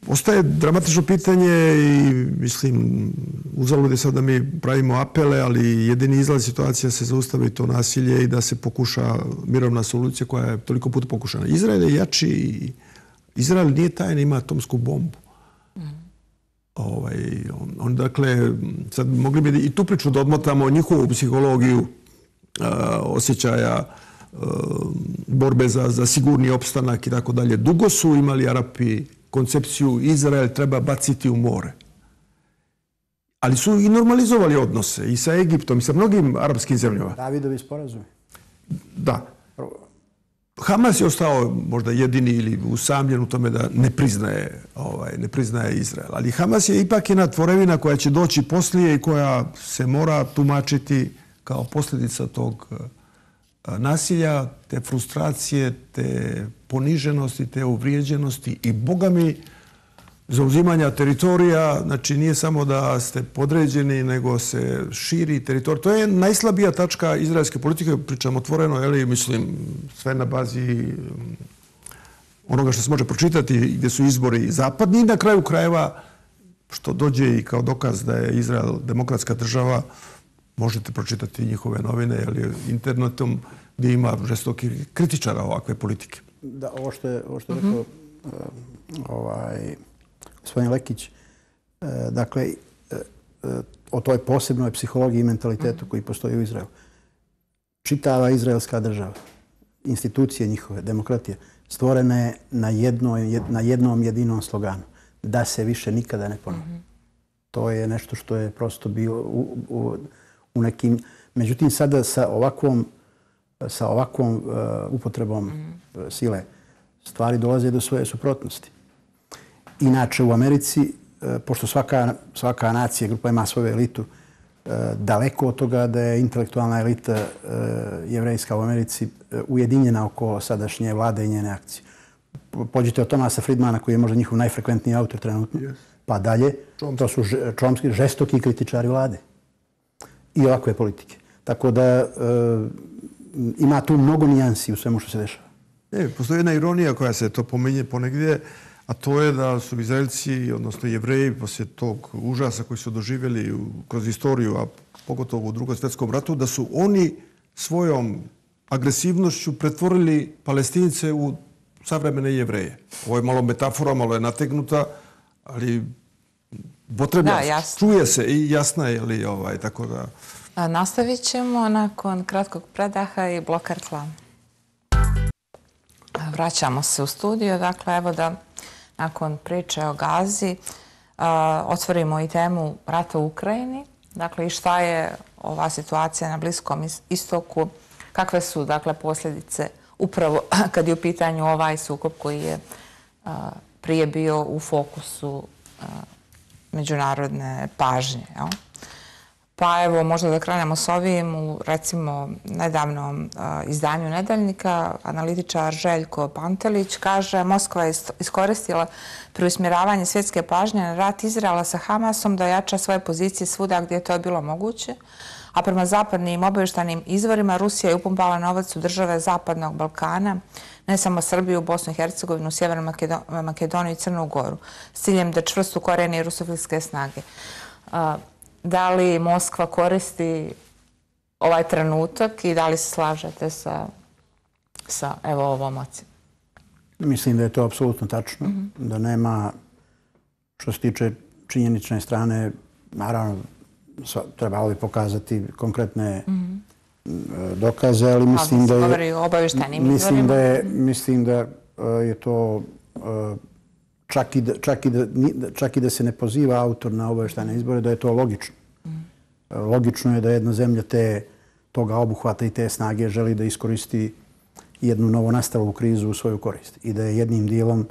ostaje dramatično pitanje i mislim, uzalud je sad da mi pravimo apele, ali jedini izlaz situacija se zaustavi to nasilje i da se pokuša mirovna solucija koja je toliko puta pokušana. Izrael je jači i Izrael nije tajna, ima atomsku bombu. Mm. Ovaj, on, on, dakle, sad mogli bi i tu priču da odmotamo njihovu psihologiju a, osjećaja borbe za, za sigurni opstanak i tako dalje. Dugo su imali Arapi koncepciju Izrael treba baciti u more. Ali su i normalizovali odnose i sa Egiptom i sa mnogim arapskim zemljama. Davidovi sporazumi. Da. Hamas je ostao možda jedini ili usamljen u tome da ne priznaje, ovaj, ne priznaje Izrael. Ali Hamas je ipak jedna tvorevina koja će doći poslije i koja se mora tumačiti kao posljedica tog nasilja, te frustracije, te poniženosti, te uvrijeđenosti i, Boga mi, zauzimanja teritorija. Znači, nije samo da ste podređeni, nego se širi teritorij. To je najslabija tačka izraelske politike, pričam otvoreno, jeli, mislim, sve na bazi onoga što se može pročitati, gdje su izbori zapadni i na kraju krajeva, što dođe i kao dokaz da je Izrael demokratska država, možete pročitati njihove novine, jeli, internetom, gdje ima žestoki kritičara ovakve politike. Da, ovo što je, ovo što je rekao uh, ovaj, gospodin Lekić, uh, dakle, uh, uh, o toj posebnoj psihologiji i mentalitetu koji postoji u Izraelu. Čitava izraelska država, institucije njihove, demokratije, stvorene na, jednoj, na jednom jedinom sloganu. Da se više nikada ne ponovi. Mm-hmm. To je nešto što je prosto bio u, u, u nekim... Međutim, sada sa ovakvom sa ovakvom uh, upotrebom mm. sile stvari dolaze do svoje suprotnosti. Inače, u Americi, uh, pošto svaka, svaka nacija, grupa ima svoju elitu, uh, daleko od toga da je intelektualna elita uh, jevrejska u Americi uh, ujedinjena oko sadašnje vlade i njene akcije. Pođite od Thomasa Friedmana, koji je možda njihov najfrekventniji autor trenutno, yes. pa dalje, Chomsky. To su Chomsky, žestoki kritičari vlade i ovakve politike. Tako da uh, ima tu mnogo nijansi u svemu što se dešava. E, postoji jedna ironija koja se to pominje ponegdje, a to je da su Izraelci, odnosno Jevreji, poslije tog užasa koji su doživjeli kroz istoriju, a pogotovo u Drugom svjetskom ratu, da su oni svojom agresivnošću pretvorili Palestince u savremene Jevreje. Ovo je malo metafora, malo je nategnuta, ali potrebna, čuje se i jasna je li ovaj, tako da... A nastavit ćemo nakon kratkog predaha i bloka reklama. Vraćamo se u studio. Dakle, evo da nakon priče o Gazi a, otvorimo i temu rata u Ukrajini. Dakle, i šta je ova situacija na Bliskom istoku, kakve su, dakle, posljedice upravo kad je u pitanju ovaj sukob koji je a, prije bio u fokusu a, međunarodne pažnje, jel? Pa evo, možda da krenemo s ovim. U, recimo, nedavnom a, izdanju Nedeljnika analitičar Željko Pantelić kaže Moskva je iskoristila preusmjeravanje svjetske pažnje na rat Izraela sa Hamasom da jača svoje pozicije svuda gdje je to bilo moguće. A prema zapadnim obavještajnim izvorima Rusija je upumpala novac u države Zapadnog Balkana, ne samo Srbiju, Bosnu i Hercegovinu, Sjevernu Makedoniju i Crnu Goru, s ciljem da čvrsto korijeni rusofilske snage. A, Da li Moskva koristi ovaj trenutak i da li se slažete sa, sa evo, ovom ocjenom? Mislim da je to apsolutno tačno. Mm-hmm. Da nema, što se tiče činjenične strane, naravno, trebalo bi pokazati konkretne dokaze, ali mislim da je... Mislim da je, mislim da je to... Čak i, da, čak, i da, čak i da se ne poziva autor na obavještajne izbore, da je to logično. Logično je da jedna zemlja te, toga obuhvata i te snage želi da iskoristi jednu novonastalu krizu u svoju korist. I da je jednim dijelom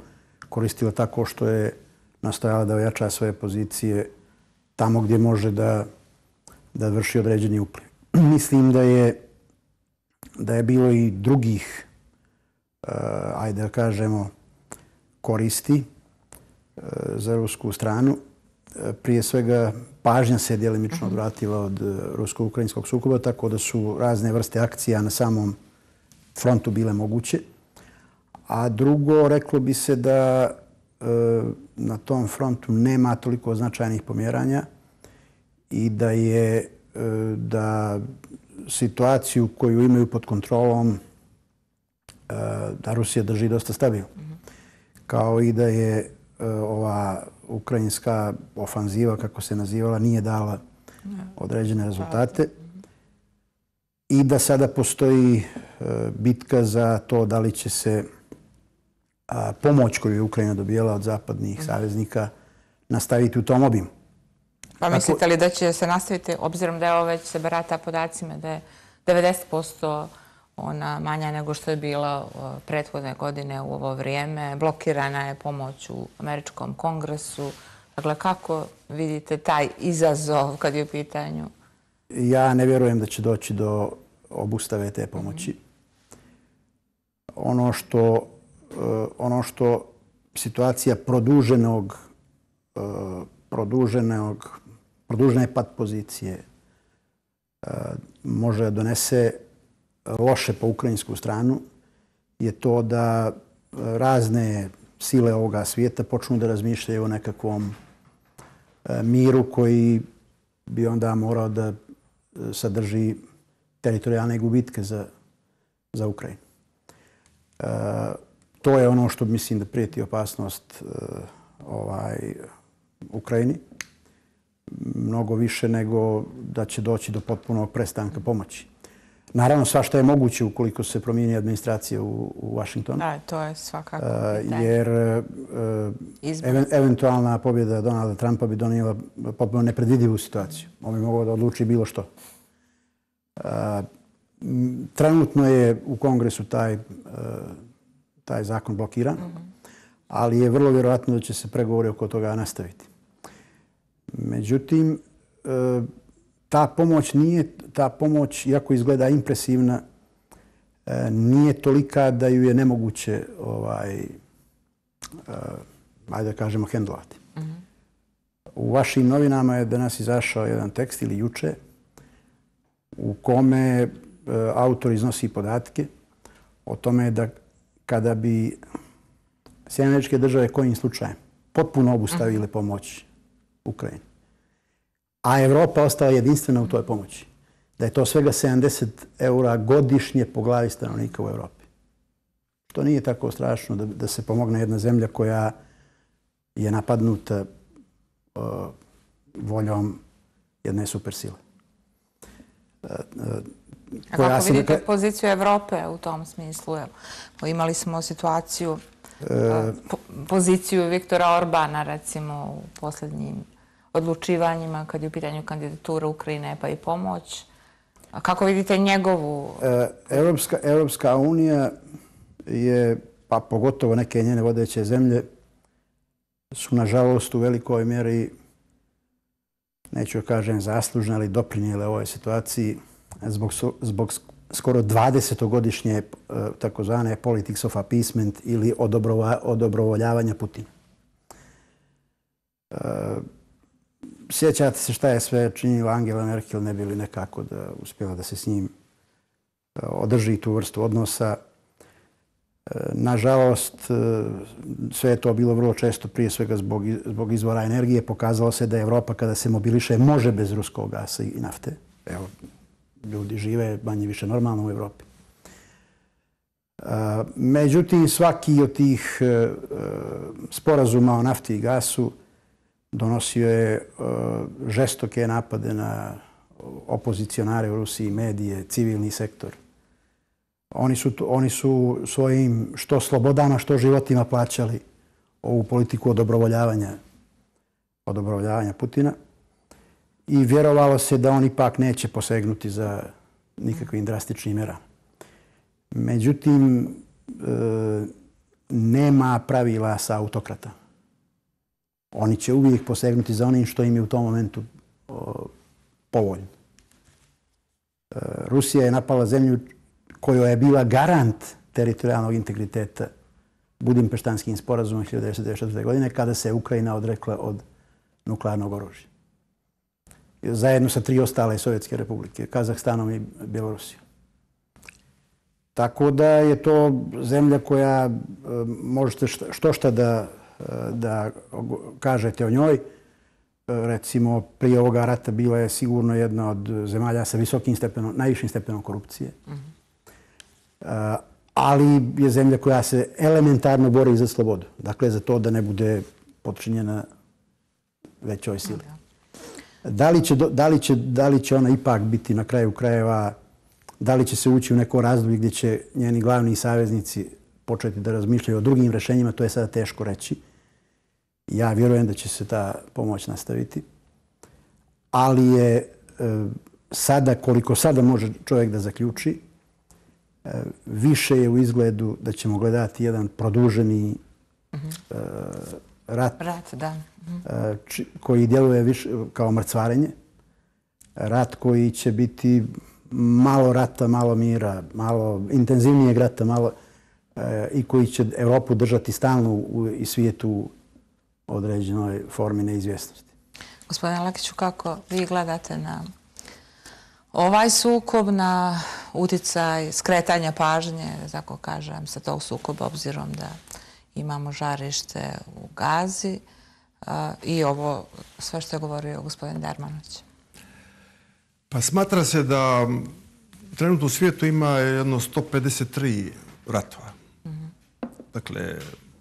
koristila tako što je nastojala da ojača svoje pozicije tamo gdje može da, da vrši određeni upliv. Mislim da je, da je bilo i drugih, uh, ajde da kažemo, koristi za rusku stranu. Prije svega, pažnja se djelimično odvratila od rusko-ukrajinskog sukoba, tako da su razne vrste akcija na samom frontu bile moguće. A drugo, reklo bi se da na tom frontu nema toliko značajnih pomjeranja i da je da situaciju koju imaju pod kontrolom da Rusija drži dosta stabilno. Kao i da je ova ukrajinska ofanziva, kako se nazivala, nije dala određene rezultate i da sada postoji bitka za to da li će se pomoć koju je Ukrajina dobijala od zapadnih saveznika nastaviti u tom obimu. Pa mislite li da će se nastaviti, obzirom da je ovo već se barata podacima, da je devedeset posto ona manja nego što je bila prethodne godine u ovo vrijeme. Blokirana je pomoć u Američkom kongresu. Dakle, kako vidite taj izazov kad je u pitanju? Ja ne vjerujem da će doći do obustave te pomoći. Ono što, ono što situacija produženog, produženog, produžene pad pozicije može donese loše po ukrajinsku stranu je to da razne sile ovoga svijeta počnu da razmišljaju o nekakvom miru koji bi onda morao da sadrži teritorijalne gubitke za, za Ukrajinu. E, to je ono što mislim da prijeti opasnost e, ovaj, Ukrajini. Mnogo više nego da će doći do potpunog prestanka pomoći. Naravno, svašta je moguće ukoliko se promijeni administracija u, u Washingtonu. Da, to je svakako pitanje. Jer uh, eventualna pobjeda Donalda Trumpa bi donijela potpuno nepredvidivu situaciju. On bi mogao da odluči bilo što. Uh, trenutno je u Kongresu taj, uh, taj zakon blokiran, mm-hmm. ali je vrlo vjerojatno da će se pregovori oko toga nastaviti. Međutim, uh, ta pomoć nije, ta pomoć, iako izgleda impresivna, nije tolika da ju je nemoguće, ovaj, ajde da kažemo, hendlovati. Mm-hmm. U vašim novinama je danas izašao jedan tekst ili juče u kome autor iznosi podatke o tome da kada bi Sjedinjene Američke Države kojim slučajem potpuno obustavile pomoć Ukrajini, a Evropa ostala jedinstvena u toj pomoći, da je to svega sedamdeset eura godišnje po glavi stanovnika u Evropi. To nije tako strašno da, da se pomogne jedna zemlja koja je napadnuta uh, voljom jedne supersile. Uh, uh, A kako vidite neka... poziciju Evrope u tom smislu? Evo, imali smo situaciju, uh, po, poziciju Viktora Orbana, recimo, u posljednjim odlučivanjima kad je u pitanju kandidatura Ukrajine pa i pomoć. A kako vidite njegovu... Evropska, Evropska unija je, pa pogotovo neke njene vodeće zemlje, su nažalost u velikoj mjeri, neću kažem zaslužne, ali doprinijele ovoj situaciji zbog, zbog skoro dvadesetogodišnje takozvane politics of appeasement ili odobrova, odobrovoljavanja Putina. Sjećate se šta je sve činila Angela Merkel, ne bi li nekako da uspjela da se s njim održi tu vrstu odnosa. Nažalost, sve je to bilo vrlo često, prije svega zbog, zbog izvora energije. Pokazalo se da Evropa kada se mobiliše može bez ruskog gasa i nafte. Evo, ljudi žive manje više normalno u Evropi. Međutim, svaki od tih sporazuma o nafti i gasu donosio je žestoke napade na opozicionare u Rusiji, medije, civilni sektor. Oni su, oni su svojim što slobodama, što životima plaćali ovu politiku odobrovoljavanja, odobrovoljavanja Putina. I vjerovalo se da on ipak neće posegnuti za nikakvim drastičnim merama. Međutim, nema pravila sa autokrata. Oni će uvijek posegnuti za onim što im je u tom momentu povoljno. Rusija je napala zemlju koja je bila garant teritorijalnog integriteta Budimpeštanskim sporazumom hiljadu devetsto devedeset četvrte. godine kada se Ukrajina odrekla od nuklearnog oružja. Zajedno sa tri ostale sovjetske republike, Kazahstanom i Bjelorusijom. Tako da je to zemlja koja možete što šta da, da kažete o njoj. Recimo, prije ovoga rata bila je sigurno jedna od zemalja sa visokim stepenom, najvišim stepenom korupcije. Mm-hmm. Ali je zemlja koja se elementarno bori za slobodu. Dakle, za to da ne bude potčinjena većoj sili. Da li će, da li će, da li će ona ipak biti na kraju krajeva, da li će se ući u neko razdoblje gdje će njeni glavni saveznici početi da razmišljaju o drugim rješenjima, to je sada teško reći. Ja vjerujem da će se ta pomoć nastaviti. Ali je e, sada, koliko sada može čovjek da zaključi, e, više je u izgledu da ćemo gledati jedan produženi mm-hmm. e, rat, rat da. Mm-hmm. e, či, koji djeluje više kao mrcvarenje. Rat koji će biti malo rata, malo mira, malo intenzivnijeg rata, malo, e, i koji će Europu držati stalno u, i svijetu određenoj formi neizvjesnosti. Gospodine Lakiću, kako vi gledate na ovaj sukob, na uticaj skretanja pažnje, da tako kažem, sa tog sukoba, obzirom da imamo žarište u Gazi i ovo sve što je govorio gospodin Dermanović? Pa smatra se da trenutno u svijetu ima jedno sto pedeset tri ratova. Mm-hmm. Dakle,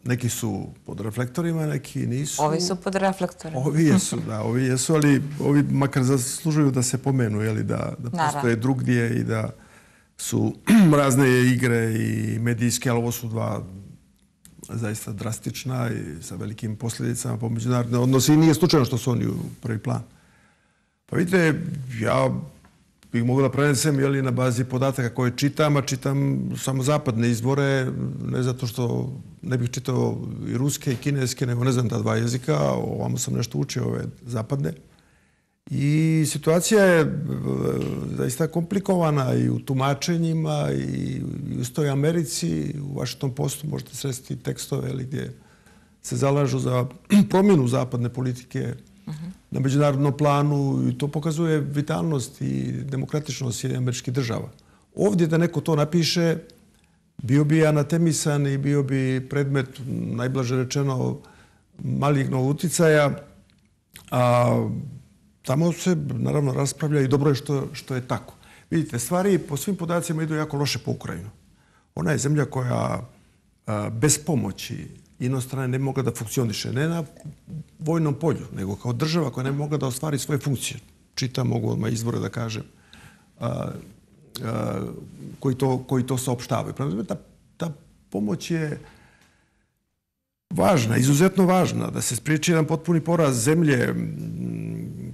neki su pod reflektorima, neki nisu. Ovi su pod reflektorima. Ovi jesu, da, ovi jesu, ali ovi makar zaslužuju da se pomenu, jeli, da, da postoje drugdje i da su razne igre i medijske, ali ovo su dva zaista drastična i sa velikim posljedicama po međunarodne odnose i nije slučajno što su oni u prvi plan. Pa vidite, ja bih mogao da prenesem jeli, na bazi podataka koje čitam, a čitam samo zapadne izvore, ne zato što ne bih čitao i ruske i kineske, nego ne znam ta dva jezika, ovamo sam nešto učio ove zapadne. I situacija je zaista komplikovana i u tumačenjima i u toj Americi, u Washington Postu možete sresti tekstove ali, gdje se zalažu za promjenu zapadne politike uh-huh. na međunarodnom planu i to pokazuje vitalnost i demokratičnost američkih država. Ovdje da neko to napiše, bio bi anatemisan i bio bi predmet, najblaže rečeno, malignog uticaja, a tamo se, naravno, raspravlja i dobro je što, što je tako. Vidite, stvari po svim podacima idu jako loše po Ukrajinu. Ona je zemlja koja a, bez pomoći inostrane ne bi mogla da funkcioniše. Ne na vojnom polju, nego kao država koja ne bi mogla da ostvari svoje funkcije. Čitam, mogu odmah izvore da kažem, a, a, koji, to, koji to saopštavaju. Ta, ta pomoć je važna, izuzetno važna, da se spriječi jedan potpuni poraz zemlje.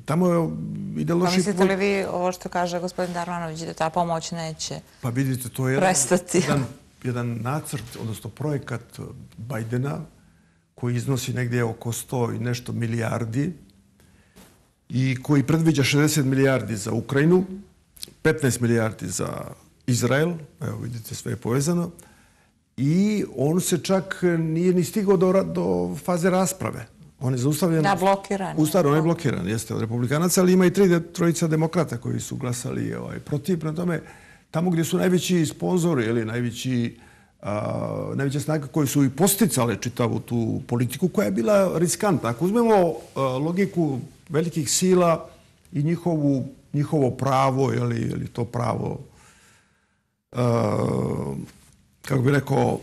Tamo je ide loši... Pa mislite li vi ovo što kaže gospodin Darmanović da ta pomoć neće pa vidite, to je prestati? Jedan, jedan nacrt, odnosno projekat Bajdena koji iznosi negdje oko sto i nešto milijardi i koji predviđa šezdeset milijardi za Ukrajinu, petnaest milijardi za Izrael, evo vidite sve je povezano, i on se čak nije ni stigao do, do faze rasprave. On je zaustavljen... Da, blokiran. Ustaro, on je blokiran, jeste, od republikanaca, ali ima i tri trojica demokrata koji su glasali ovaj, protiv. Prema tome, tamo gdje su najveći sponzori ili najveći, a, najveće snage koji su i posticale čitavu tu politiku koja je bila riskantna. Ako uzmemo a, logiku velikih sila i njihovu, njihovo pravo, ili, ili to pravo, a, kako bih rekao,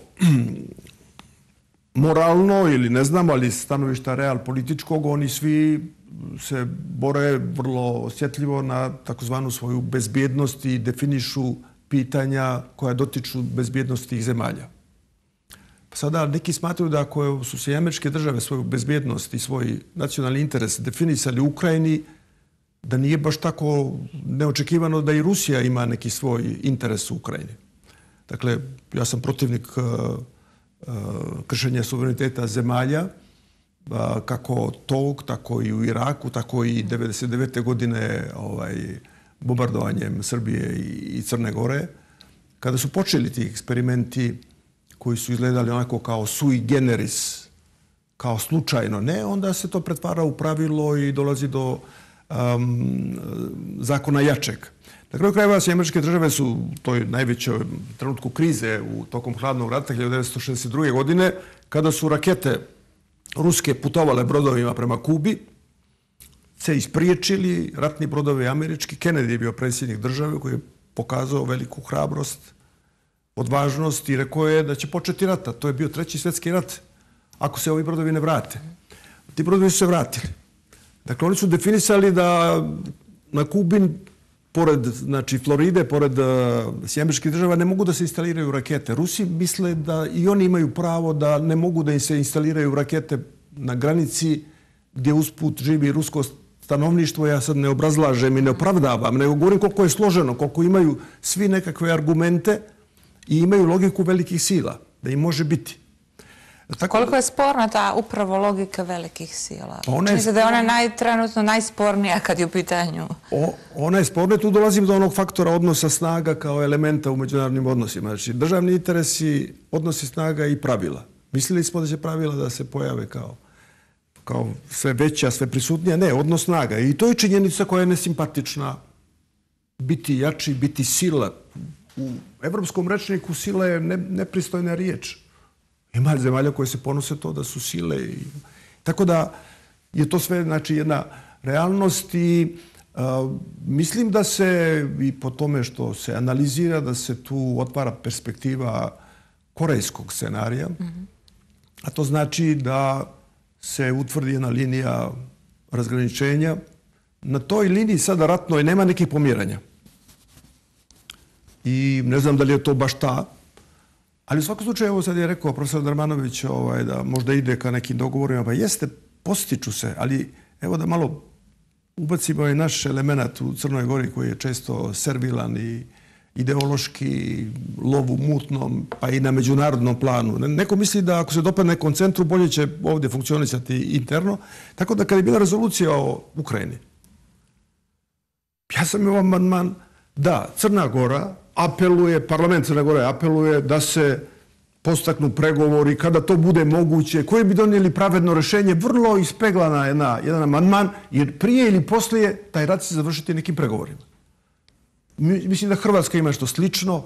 moralno ili ne znam, ali stanovišta real političkog, oni svi se bore vrlo osjetljivo na takozvanu svoju bezbjednost i definišu pitanja koja dotiču bezbjednosti tih zemalja. Sada neki smatruju da ako su se i američke države svoju bezbjednost i svoj nacionalni interes definisali u Ukrajini, da nije baš tako neočekivano da i Rusija ima neki svoj interes u Ukrajini. Dakle, ja sam protivnik kršenja suvereniteta zemalja, kako tog, tako i u Iraku, tako i devedeset devete godine bombardovanjem Srbije i Crne Gore. Kada su počeli ti eksperimenti koji su izgledali onako kao sui generis, kao slučajno, ne, onda se to pretvara u pravilo i dolazi do zakona jačeg. Na kraju krajeva, američke države su u toj najvećoj trenutku krize u tokom hladnog rata hiljadu devetsto šezdeset druge. godine, kada su rakete ruske putovale brodovima prema Kubi, se ispriječili ratni brodovi američki. Kennedy je bio predsjednik države koji je pokazao veliku hrabrost, odvažnost i rekao je da će početi rata. To je bio treći svjetski rat ako se ovi brodovi ne vrate. Ti brodovi su se vratili. Dakle, oni su definisali da na Kubi, pored znači, Floride, pored američkih država, ne mogu da se instaliraju rakete. Rusi misle da i oni imaju pravo da ne mogu da im se instaliraju rakete na granici gdje usput živi rusko stanovništvo. Ja sad ne obrazlažem i ne opravdavam, nego govorim koliko je složeno, koliko imaju svi nekakve argumente i imaju logiku velikih sila, da im može biti. Koliko je sporna ta upravo logika velikih sila? Ona Čini se da je ona trenutno najspornija kad je u pitanju. Ona je sporna, tu dolazim do onog faktora odnosa snaga kao elementa u međunarodnim odnosima. Znači, državni interesi, odnosi snaga i pravila. Mislili smo da će pravila da se pojave kao kao sve veća, sve prisutnija. Ne, odnos snaga. I to je činjenica koja je nesimpatična. Biti jači, biti sila. U evropskom rečniku sila je nepristojna riječ. Ima zemalja koje se ponose to da su sile. Tako da je to sve znači, jedna realnost i mislim da se i po tome što se analizira da se tu otvara perspektiva korejskog scenarija, a to znači da se utvrdi jedna linija razgraničenja. Na toj liniji sada ratnoj nema nekih pomiranja. I ne znam da li je to baš ta. Ali u svakom slučaju, evo sad je rekao profesor Darmanović da možda ide ka nekim dogovorima. Pa jeste, postiču se, ali evo da malo ubacimo i naš element u Crnoj Gori koji je često servilan i ideološki lov u mutnom, pa i na međunarodnom planu. Neko misli da ako se dopadne nekom centru, bolje će ovdje funkcionisati interno. Tako da kad je bila rezolucija o Ukrajini, ja sam imao amandman da Crna Gora apeluje, parlament Crne Gore apeluje da se postaknu pregovori kada to bude moguće, koji bi donijeli pravedno rješenje, vrlo ispeglana jedan amandman, jer prije ili poslije taj rat će završiti nekim pregovorima. Mislim da Hrvatska ima što slično.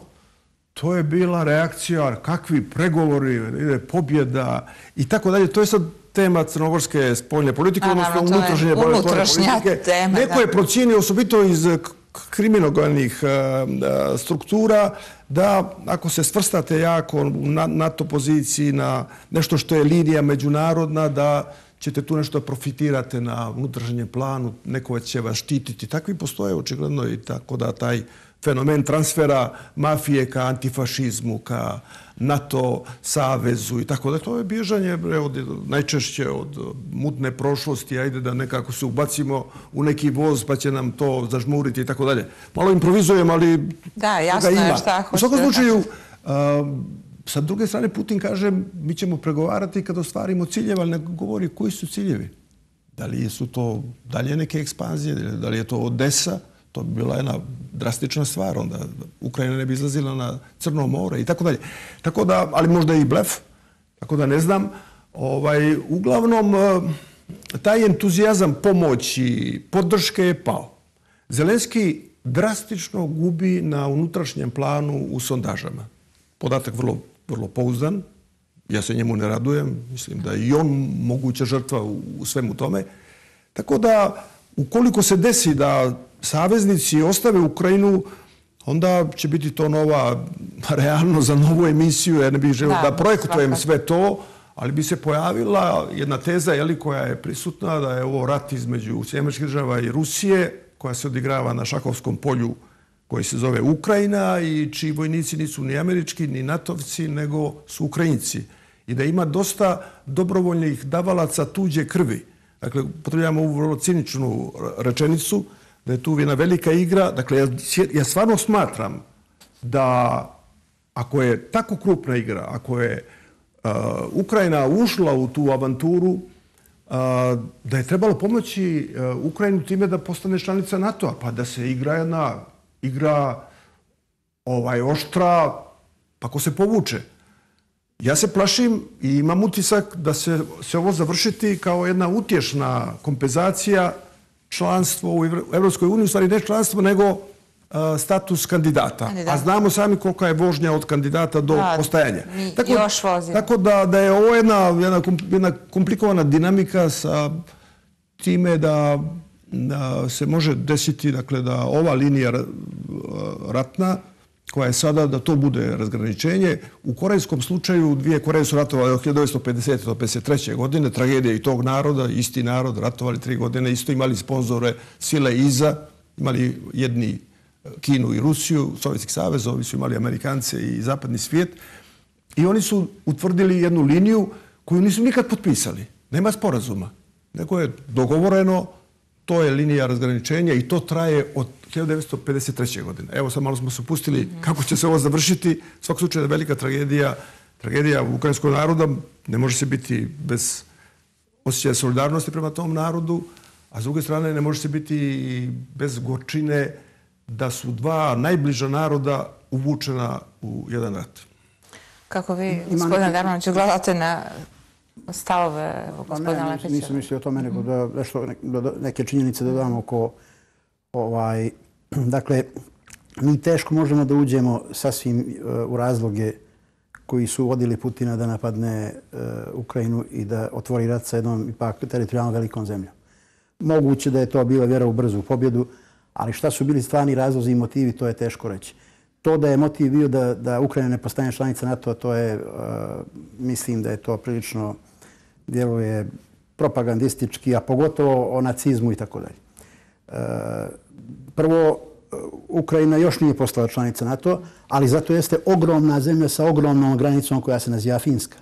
To je bila reakcija, kakvi pregovori, ide pobjeda i tako dalje. To je sad tema crnogorske spoljne politike, odnosno unutrašnje politike. Neko je procijenio osobito iz kriminogolnih struktura da ako se svrstate jako na NATO poziciji, na nešto što je linija međunarodna, da ćete tu nešto profitirate na unutrašnjem planu, neko će vas štititi. Takvi postoje očigledno i tako da taj fenomen transfera mafije ka antifašizmu, ka NATO savezu i tako da to je bježanje najčešće od mutne prošlosti, ajde da nekako se ubacimo u neki voz pa će nam to zažmuriti i tako dalje. Malo improvizujem, ali da, jasno je šta hoćete. U svakom slučaju, sa druge strane Putin kaže mi ćemo pregovarati kad ostvarimo ciljeve, ali ne govori koji su ciljevi. Da li su to dalje neke ekspanzije, da li je to Odesa, to bi bila jedna drastična stvar, onda Ukrajina ne bi izlazila na Crno more i tako dalje. Tako da, ali možda i blef, tako da ne znam. Uglavnom, taj entuzijazam pomoći, podrške je pao. Zelenski drastično gubi na unutrašnjem planu u sondažama. Podatak vrlo, vrlo pouzdan. Ja se njemu ne radujem. Mislim da je i on moguća žrtva u svemu tome. Tako da, ukoliko se desi da saveznici ostave Ukrajinu, onda će biti to nova realnost za novu emisiju. Ja ne bih želio da projektujem sve to, ali bi se pojavila jedna teza jeli, koja je prisutna da je ovo rat između Sjedinjenih Američkih Država i Rusije koja se odigrava na šahovskom polju koji se zove Ukrajina i čiji vojnici nisu ni američki, ni natovci, nego su Ukrajinci. I da ima dosta dobrovoljnih davalaca tuđe krvi. Dakle, potrebujemo ovu vrlo ciničnu rečenicu, da je tu jedna velika igra. Dakle, ja, ja stvarno smatram da ako je tako krupna igra, ako je uh, Ukrajina ušla u tu avanturu, uh, da je trebalo pomoći uh, Ukrajinu time da postane članica NATO-a, pa da se igra jedna igra ovaj, oštra, pa ko se povuče. Ja se plašim i imam utisak da se, se ovo završiti kao jedna utješna kompenzacija članstvo u Evropskoj uniji, u stvari ne članstvo, nego uh, status kandidata. Kandidat. A znamo sami kolika je vožnja od kandidata do da, postajanja. Tako, još vozimo. Tako da, da je ovo jedna, jedna, jedna komplikovana dinamika sa time da, da se može desiti, dakle, da ova linija ratna koja je sada, da to bude razgraničenje. U korejskom slučaju dvije Koreje su ratovali od hiljadu devetsto pedesete do pedeset treće godine, tragedija i tog naroda, isti narod, ratovali tri godine, isto imali sponzore sile iza, imali jedni Kinu i Rusiju, Sovjetski savez, ovi su imali Amerikance i zapadni svijet. I oni su utvrdili jednu liniju koju nisu nikad potpisali. Nema sporazuma. Nego je dogovoreno, to je linija razgraničenja i to traje od hiljadu devetsto pedeset treće godine. Evo sad malo smo se upustili kako će se ovo završiti. U svakom slučaju je velika tragedija. Tragedija ukrajinskog naroda. Ne može se biti bez osjećaja solidarnosti prema tom narodu, a s druge strane ne može se biti bez gorčine da su dva najbliža naroda uvučena u jedan rat. Kako vi, gospodine Darmanoviću, gledate na stavove gospodina Lepića? Nisam mislio o tome, nego da, nešto, da neke činjenice dodam oko ovaj, dakle, mi teško možemo da uđemo sasvim uh, u razloge koji su vodili Putina da napadne uh, Ukrajinu i da otvori rat sa jednom ipak teritorijalno velikom zemljom. Moguće da je to bila vjera u brzu pobjedu, ali šta su bili stvarni razlozi i motivi, to je teško reći. To da je motiv bio da, da Ukrajina ne postane članica NATO-a, to je, uh, mislim da je to prilično djeluje propagandistički, a pogotovo o nacizmu i tako dalje. Prvo, Ukrajina još nije postala članica NATO, ali zato jeste ogromna zemlja sa ogromnom granicom koja se naziva Finska.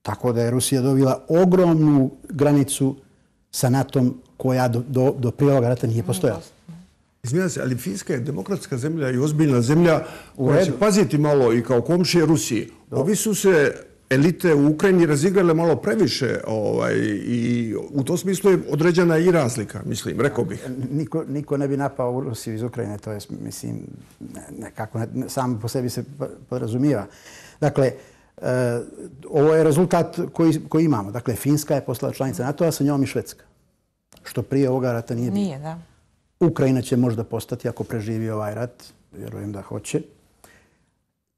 Tako da je Rusija dobila ogromnu granicu sa NATO-om koja do, do, do prije ovoga rata nije postojala. Izmijenam se, ali Finska je demokratska zemlja i ozbiljna zemlja koja će paziti malo i kao komšije Rusiji. Ovi su se elite u Ukrajini razigrale malo previše ovaj, i u tom smislu je određena i razlika, mislim, rekao bih. Niko, niko ne bi napao u Rusiju iz Ukrajine, to je, mislim, nekako ne, sam po sebi se podrazumijeva. Dakle, e, ovo je rezultat koji, koji imamo. Dakle, Finska je postala članica NATO-a, sa njom i Švedska. Što prije ovoga rata nije bilo. Nije, da. Ukrajina će možda postati ako preživi ovaj rat, vjerujem da hoće.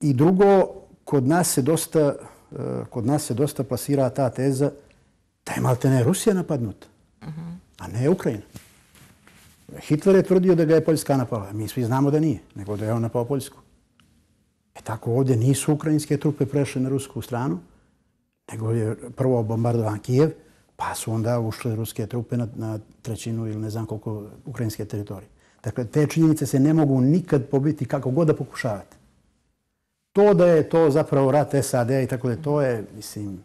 I drugo, kod nas se dosta kod nas se dosta plasira ta teza da je maltene Rusija napadnuta, a ne Ukrajina. Hitler je tvrdio da ga je Poljska napala. Mi svi znamo da nije, nego da je on napao Poljsku. E tako ovdje nisu ukrajinske trupe prešle na rusku stranu, nego je prvo bombardovan Kijev, pa su onda ušle ruske trupe na, na trećinu ili ne znam koliko ukrajinske teritorije. Dakle, te činjenice se ne mogu nikad pobiti kako god da pokušavate. To da je to zapravo rat S A D i tako da to je, mislim,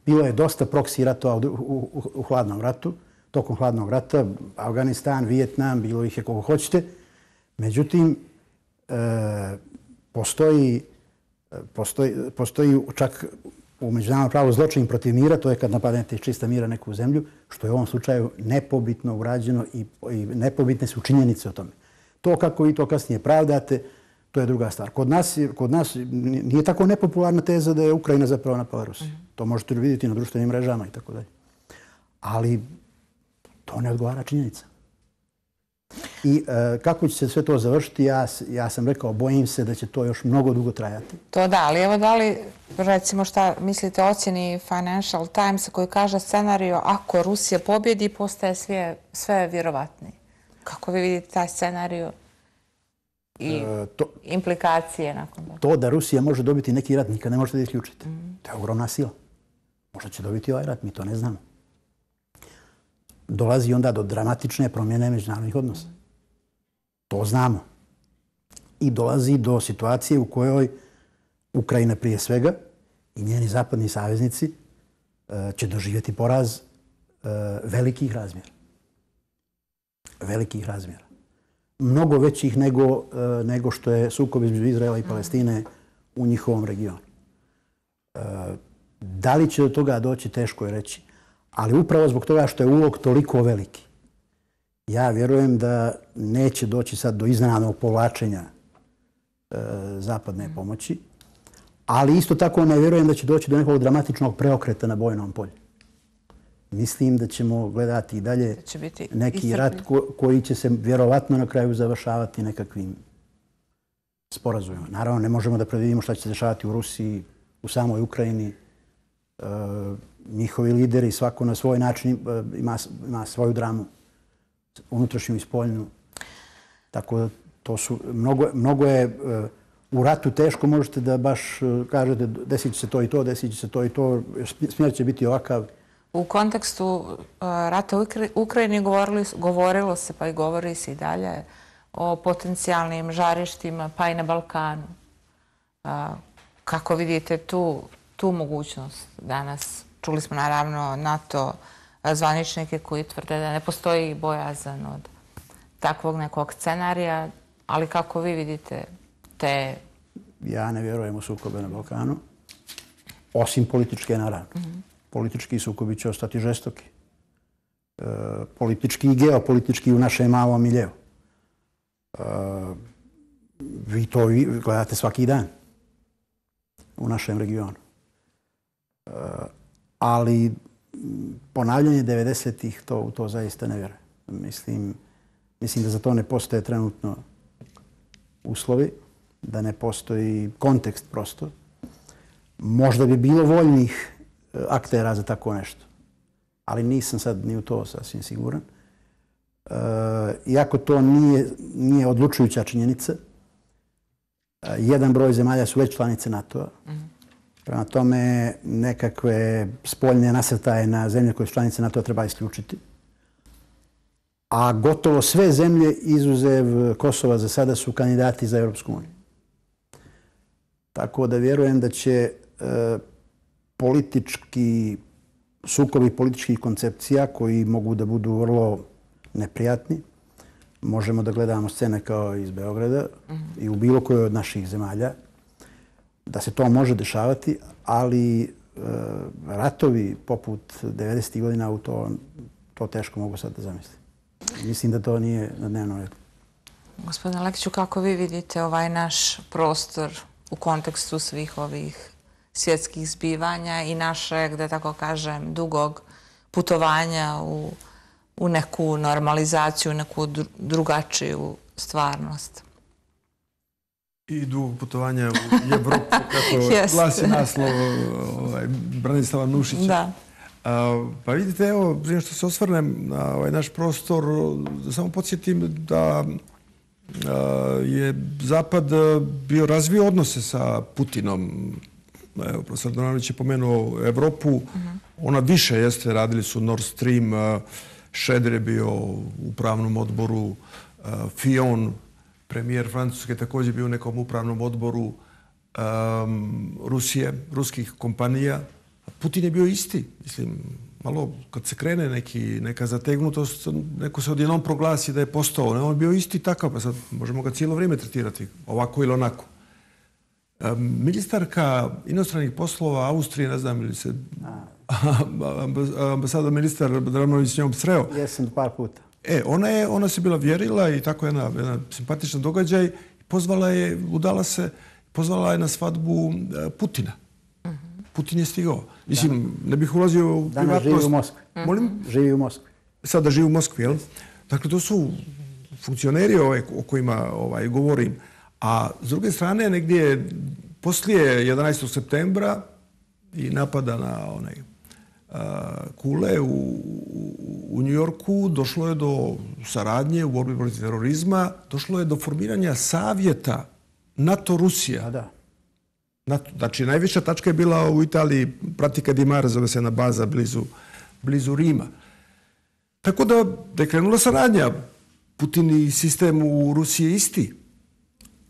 bilo je dosta proksi ratova u, u, u, u hladnom ratu, tokom hladnog rata, Afganistan, Vijetnam, bilo ih je koliko hoćete. Međutim, e, postoji, postoji, postoji čak u međunarodnom pravu zločin protiv mira, to je kad napadnete iz čista mira neku zemlju, što je u ovom slučaju nepobitno urađeno i, i nepobitne su činjenice o tome. To kako vi to kasnije pravdate, to je druga stvar. Kod nas, kod nas nije tako nepopularna teza da je Ukrajina zapravo napala Rusiju. Mm. To možete vidjeti na društvenim mrežama i tako dalje. Ali to ne odgovara činjenica. I e, kako će se sve to završiti, ja, ja sam rekao, bojim se da će to još mnogo dugo trajati. To da, ali evo da li, recimo šta mislite o ocjeni Financial Times koji kaže scenariju ako Rusija pobjedi postaje sve, sve vjerovatniji. Kako vi vidite taj scenariju i e, to, implikacije nakon toga? To da Rusija može dobiti neki rat nikad ne možete da isključite. Mm. To je ogromna sila. Možda će dobiti ovaj rat, mi to ne znamo. Dolazi onda do dramatične promjene međunarodnih odnosa. To znamo. I dolazi do situacije u kojoj Ukrajina prije svega i njeni zapadni saveznici će doživjeti poraz velikih razmjera. Velikih razmjera. Mnogo većih nego, nego što je sukob između Izraela i Palestine u njihovom regionu. Da li će do toga doći, teško je reći. Ali upravo zbog toga što je ulog toliko veliki, ja vjerujem da neće doći sad do iznenadnog povlačenja e, zapadne pomoći, ali isto tako ne vjerujem da će doći do nekog dramatičnog preokreta na bojnom polju. Mislim da ćemo gledati i dalje neki rat ko, koji će se vjerovatno na kraju završavati nekakvim sporazumima. Naravno, ne možemo da predvidimo šta će se dešavati u Rusiji, u samoj Ukrajini. E, njihovi lideri, svako na svoj način ima, ima svoju dramu, unutrašnju i spoljnu. Tako da to su, mnogo, mnogo je u ratu teško, možete da baš kažete desit će se to i to, desit će se to i to, smjer će biti ovakav. U kontekstu rata u Ukrajini govorili, govorilo se, pa i govori se i dalje, o potencijalnim žarištima, pa i na Balkanu. Kako vidite tu, tu mogućnost danas? Čuli smo naravno NATO zvaničnike koji tvrde da ne postoji bojazan od takvog nekog scenarija, ali kako vi vidite te... Ja ne vjerujem u sukobe na Balkanu, osim političke naravno. Mm-hmm. Politički sukobi će ostati žestoki. E, politički i geopolitički u našem malom miljeu. E, vi to vi gledate svaki dan u našem regionu. E, ali ponavljanje devedesetih, to, u to zaista ne vjerujem. Mislim, mislim da za to ne postoje trenutno uslovi, da ne postoji kontekst prosto. Možda bi bilo voljnih aktera za tako nešto, ali nisam sad ni u to sasvim siguran. E, iako to nije, nije odlučujuća činjenica, e, jedan broj zemalja su već članice NATO-a. Mm-hmm. Prema tome, nekakve spoljne nasrtaje na zemlje koje su članice NATO treba isključiti. A gotovo sve zemlje, izuzev Kosova za sada, su kandidati za Europsku uniju. Tako da vjerujem da će e, politički sukobi političkih koncepcija koji mogu da budu vrlo neprijatni. Možemo da gledamo scene kao iz Beograda mm-hmm. i u bilo kojoj od naših zemalja. Da se to može dešavati, ali e, ratovi poput devedesetih godina u to, to teško mogu sad da zamislim. Mislim da to nije na dnevnom redu. Gospodine Lekiću, kako vi vidite ovaj naš prostor u kontekstu svih ovih svjetskih zbivanja i našeg, da tako kažem, dugog putovanja u, u neku normalizaciju, u neku drugačiju stvarnost? I dugog putovanja u Evropu, kako glasi naslov ovaj, Branislava Nušića. Da. A, pa vidite, evo, prije što se osvrnem na ovaj naš prostor, da samo podsjetim da a, je Zapad bio razvio odnose sa Putinom. Evo, profesor Donanović je pomenuo Evropu. Uh-huh. Ona više jeste, radili su Nord Stream, Šeder je bio u upravnom odboru, Fillon, premijer Francuske, također bio u nekom upravnom odboru um, Rusije, ruskih kompanija. Putin je bio isti. Mislim, malo kad se krene neki, neka zategnutost, neko se odjednom proglasi da je postao. On je bio isti takav, pa sad možemo ga cijelo vrijeme tretirati, ovako ili onako. Um, ministarka inostranih poslova Austrije, ne znam ili se ambasador ministar Dranović s njom sreo. Jesam par puta. E, ona je, ona se bila vjerila i tako jedna, jedna simpatična događaj. Pozvala je, udala se, pozvala je na svadbu Putina. Mm-hmm. Putin je stigao. Mislim, da. Ne bih ulazio u privatnost. Danas živi u Moskvi. Mm-hmm. Molim? Živi u Moskvi. Sada živi u Moskvi, jel? Dakle, to su funkcioneri ove, o kojima ovaj, govorim. A s druge strane, negdje poslije jedanaestog septembra i napada na onaj Kule u, u New Yorku, došlo je do saradnje u borbi protiv terorizma, došlo je do formiranja savjeta NATO-Rusija. Da, da. Znači, najviša tačka je bila u Italiji, Pratica di Mare, zove se jedna baza blizu Rima. Tako da je krenula saradnja. Putin i sistem u Rusiji je isti.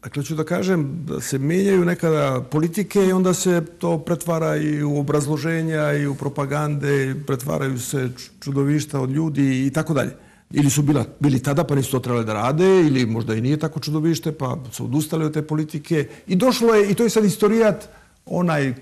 Dakle, ću da kažem da se menjaju nekada politike i onda se to pretvara i u obrazloženja i u propagande, pretvaraju se čudovišta od ljudi i tako dalje. Ili su bili tada pa nisu to trebali da rade, ili možda i nije tako čudovište pa su odustali od te politike. I došlo je, i to je sad istorijat, onaj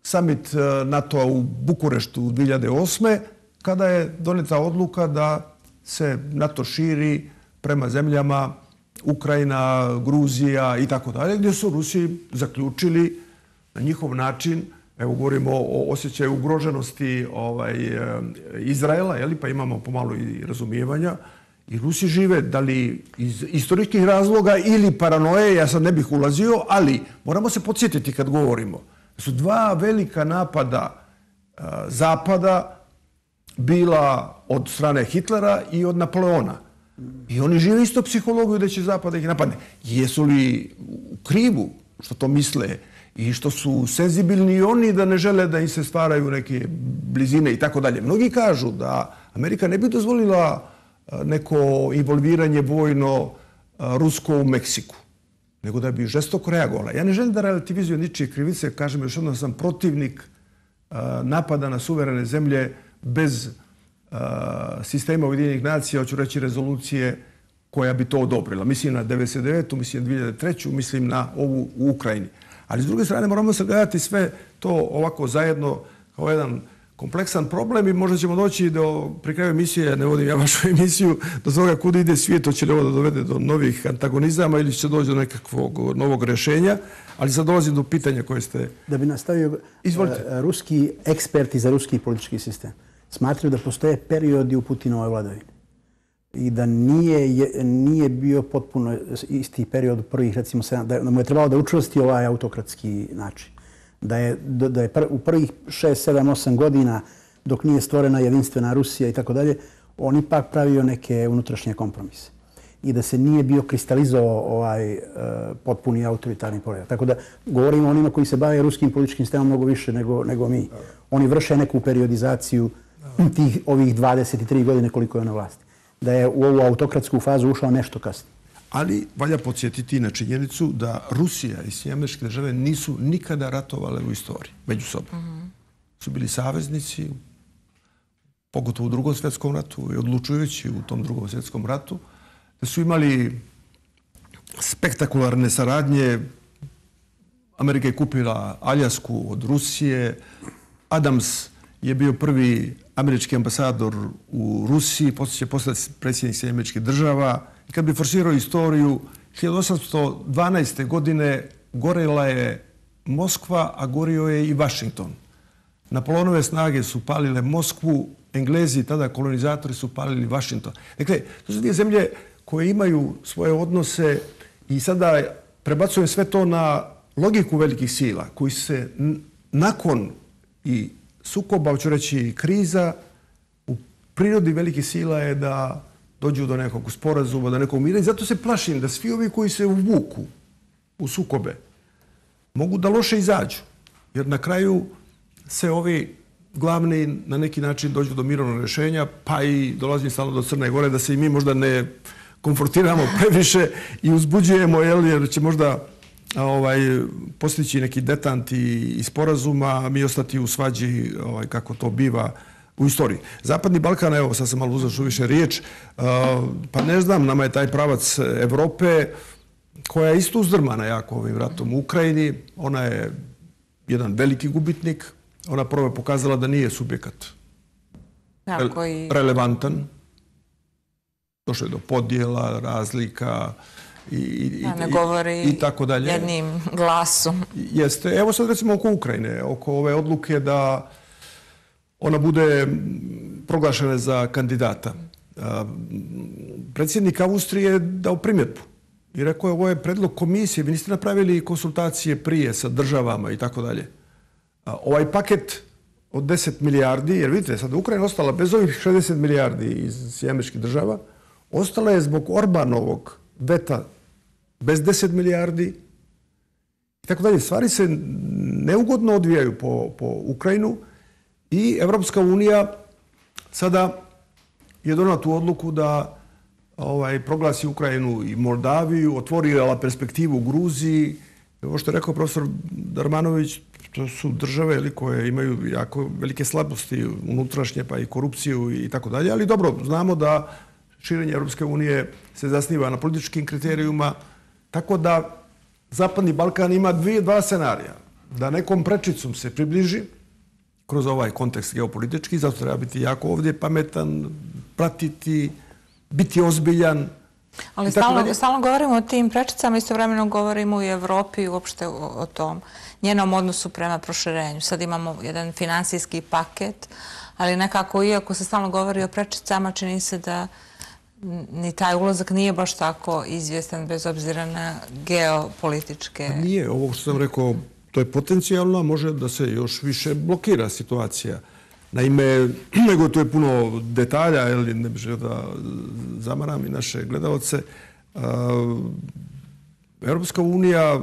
summit NATO-a u Bukureštu dve hiljade osme kada je doneta odluka da se NATO širi prema zemljama Ukrajina, Gruzija i tako dalje, gdje su Rusi zaključili na njihov način, evo govorimo o osjećaju ugroženosti Izraela, pa imamo pomalo i razumijevanja, i Rusi žive, da li iz istorijskih razloga ili paranoje, ja sad ne bih ulazio, ali moramo se podsjetiti kad govorimo, da su dva velika napada Zapada bila od strane Hitlera i od Napoleona. I oni žive isto psihologiju da će Zapad da ih napadne. Jesu li u krivu što to misle i što su senzibilni oni da ne žele da im se stvaraju neke blizine i tako dalje. Mnogi kažu da Amerika ne bi dozvolila neko involviranje vojno rusko u Meksiku, nego da bi žestoko reagovala. Ja ne želim da relativizujem ničije krivice, kažem još jednom, sam protivnik napada na suverene zemlje bez sistema Ujedinjenih nacija, hoću reći rezolucije koja bi to odobrila. Mislim na devedeset devetu, mislim na dve hiljade treću, mislim na ovu u Ukrajini. Ali s druge strane moramo sagledati sve to ovako zajedno kao jedan kompleksan problem i možda ćemo doći do, pri kraju emisije, ne vodim ja vašu emisiju, do toga kuda ide svijet, hoće li ovo da dovede do novih antagonizama ili će doći do nekakvog novog rešenja, ali sad dolazim do pitanja koje ste... Da bi nastavio, ruski eksperti za ruski politički sistem smatraju da postoje periodi u Putinovoj vladavini i da nije bio potpuno isti period prvih, recimo, da mu je trebalo da učvrsti ovaj autokratski način. Da je u prvih šest, sedam, osam godina, dok nije stvorena jedinstvena Rusija i tako dalje, on ipak pravio neke unutrašnje kompromise. I da se nije bio kristalizovao ovaj potpuni autoritarni poredak. Tako da govorimo o onima koji se bave ruskim političkim sistemom mnogo više nego mi. Oni vrše neku periodizaciju tih ovih dvadeset tri godine koliko je na vlasti. Da je u ovu autokratsku fazu ušao nešto kasnije. Ali valja podsjetiti na činjenicu da Rusija i Sjedinjene Američke Države nisu nikada ratovale u istoriji među sobom. Su bili saveznici, pogotovo u Drugom svjetskom ratu i odlučujući u tom Drugom svjetskom ratu, da su imali spektakularne saradnje. Amerika je kupila Aljasku od Rusije, Adams je bio prvi američki ambasador u Rusiji, poslije će postati predsjednik Sjedinjenih Američkih Država. I kad bi forsirao istoriju, hiljadu osamsto dvanaeste. godine gorela je Moskva, a gorio je i Vašington. Napoleonove snage su palile Moskvu, Englezi, tada kolonizatori, su palili Vašington. Dakle, to su dvije zemlje koje imaju svoje odnose i sada prebacujem sve to na logiku velikih sila, koji se nakon i sukoba, hoću reći kriza, u prirodi velikih sila je da dođu do nekog sporazuma, do nekog mira i zato se plašim da svi ovi koji se uvuku u sukobe mogu da loše izađu. Jer na kraju se ovi glavni na neki način dođu do mirovnog rješenja, pa i dolazim stalno do Crne Gore, da se i mi možda ne konfrontiramo previše i uzbuđujemo, jer će možda postići neki detant i sporazuma, a mi ostati u svađi kako to biva u istoriji. Zapadni Balkan, evo, sad sam malo uzeo više riječ, pa ne znam, nama je taj pravac Evrope, koja je isto uzdrmana jako ovim ratom u Ukrajini. Ona je jedan veliki gubitnik. Ona prvo je pokazala da nije subjekat relevantan. Došlo je do podjela, razlika i ne govori jednim glasom. Jeste. Evo sad recimo oko Ukrajine, oko ove odluke da ona bude proglašena za kandidata. Predsjednik Austrije je dao primjedbu i rekao je ovo je predlog komisije, vi niste napravili konsultacije prije sa državama i tako dalje. Ovaj paket od deset milijardi, jer vidite, sad Ukrajina ostala bez ovih šezdeset milijardi iz Sjedinjenih Američkih Država, ostala je zbog Orbanovog veta bez deset milijardi i tako dalje. Stvari se neugodno odvijaju po, po Ukrajinu i Evropska unija sada je donala tu odluku da ovaj, proglasi Ukrajinu i Moldaviju, otvorila perspektivu u Gruziji. Ovo što je rekao profesor Darmanović, to su države ili, koje imaju jako velike slabosti unutrašnje, pa i korupciju i tako dalje. Ali dobro, znamo da širenje Europske unije se zasniva na političkim kriterijuma, tako da Zapadni Balkan ima dvije, dva scenarija. Da nekom prečicom se približi kroz ovaj kontekst geopolitički, zato treba biti jako ovdje pametan, pratiti, biti ozbiljan. Ali stalno, stalno govorimo o tim prečicama, istovremeno govorimo i o Evropi i uopšte o, o tom njenom odnosu prema proširenju. Sad imamo jedan finansijski paket, ali nekako, iako se stalno govori o prečicama, čini se da ni taj ulazak nije baš tako izvjestan bez obzira na geopolitičke... Nije, ovo što sam rekao, to je potencijalno, a može da se još više blokira situacija. Naime, nego to je puno detalja, ili ne bih želio da zamaram i naše gledalce. Europska unija,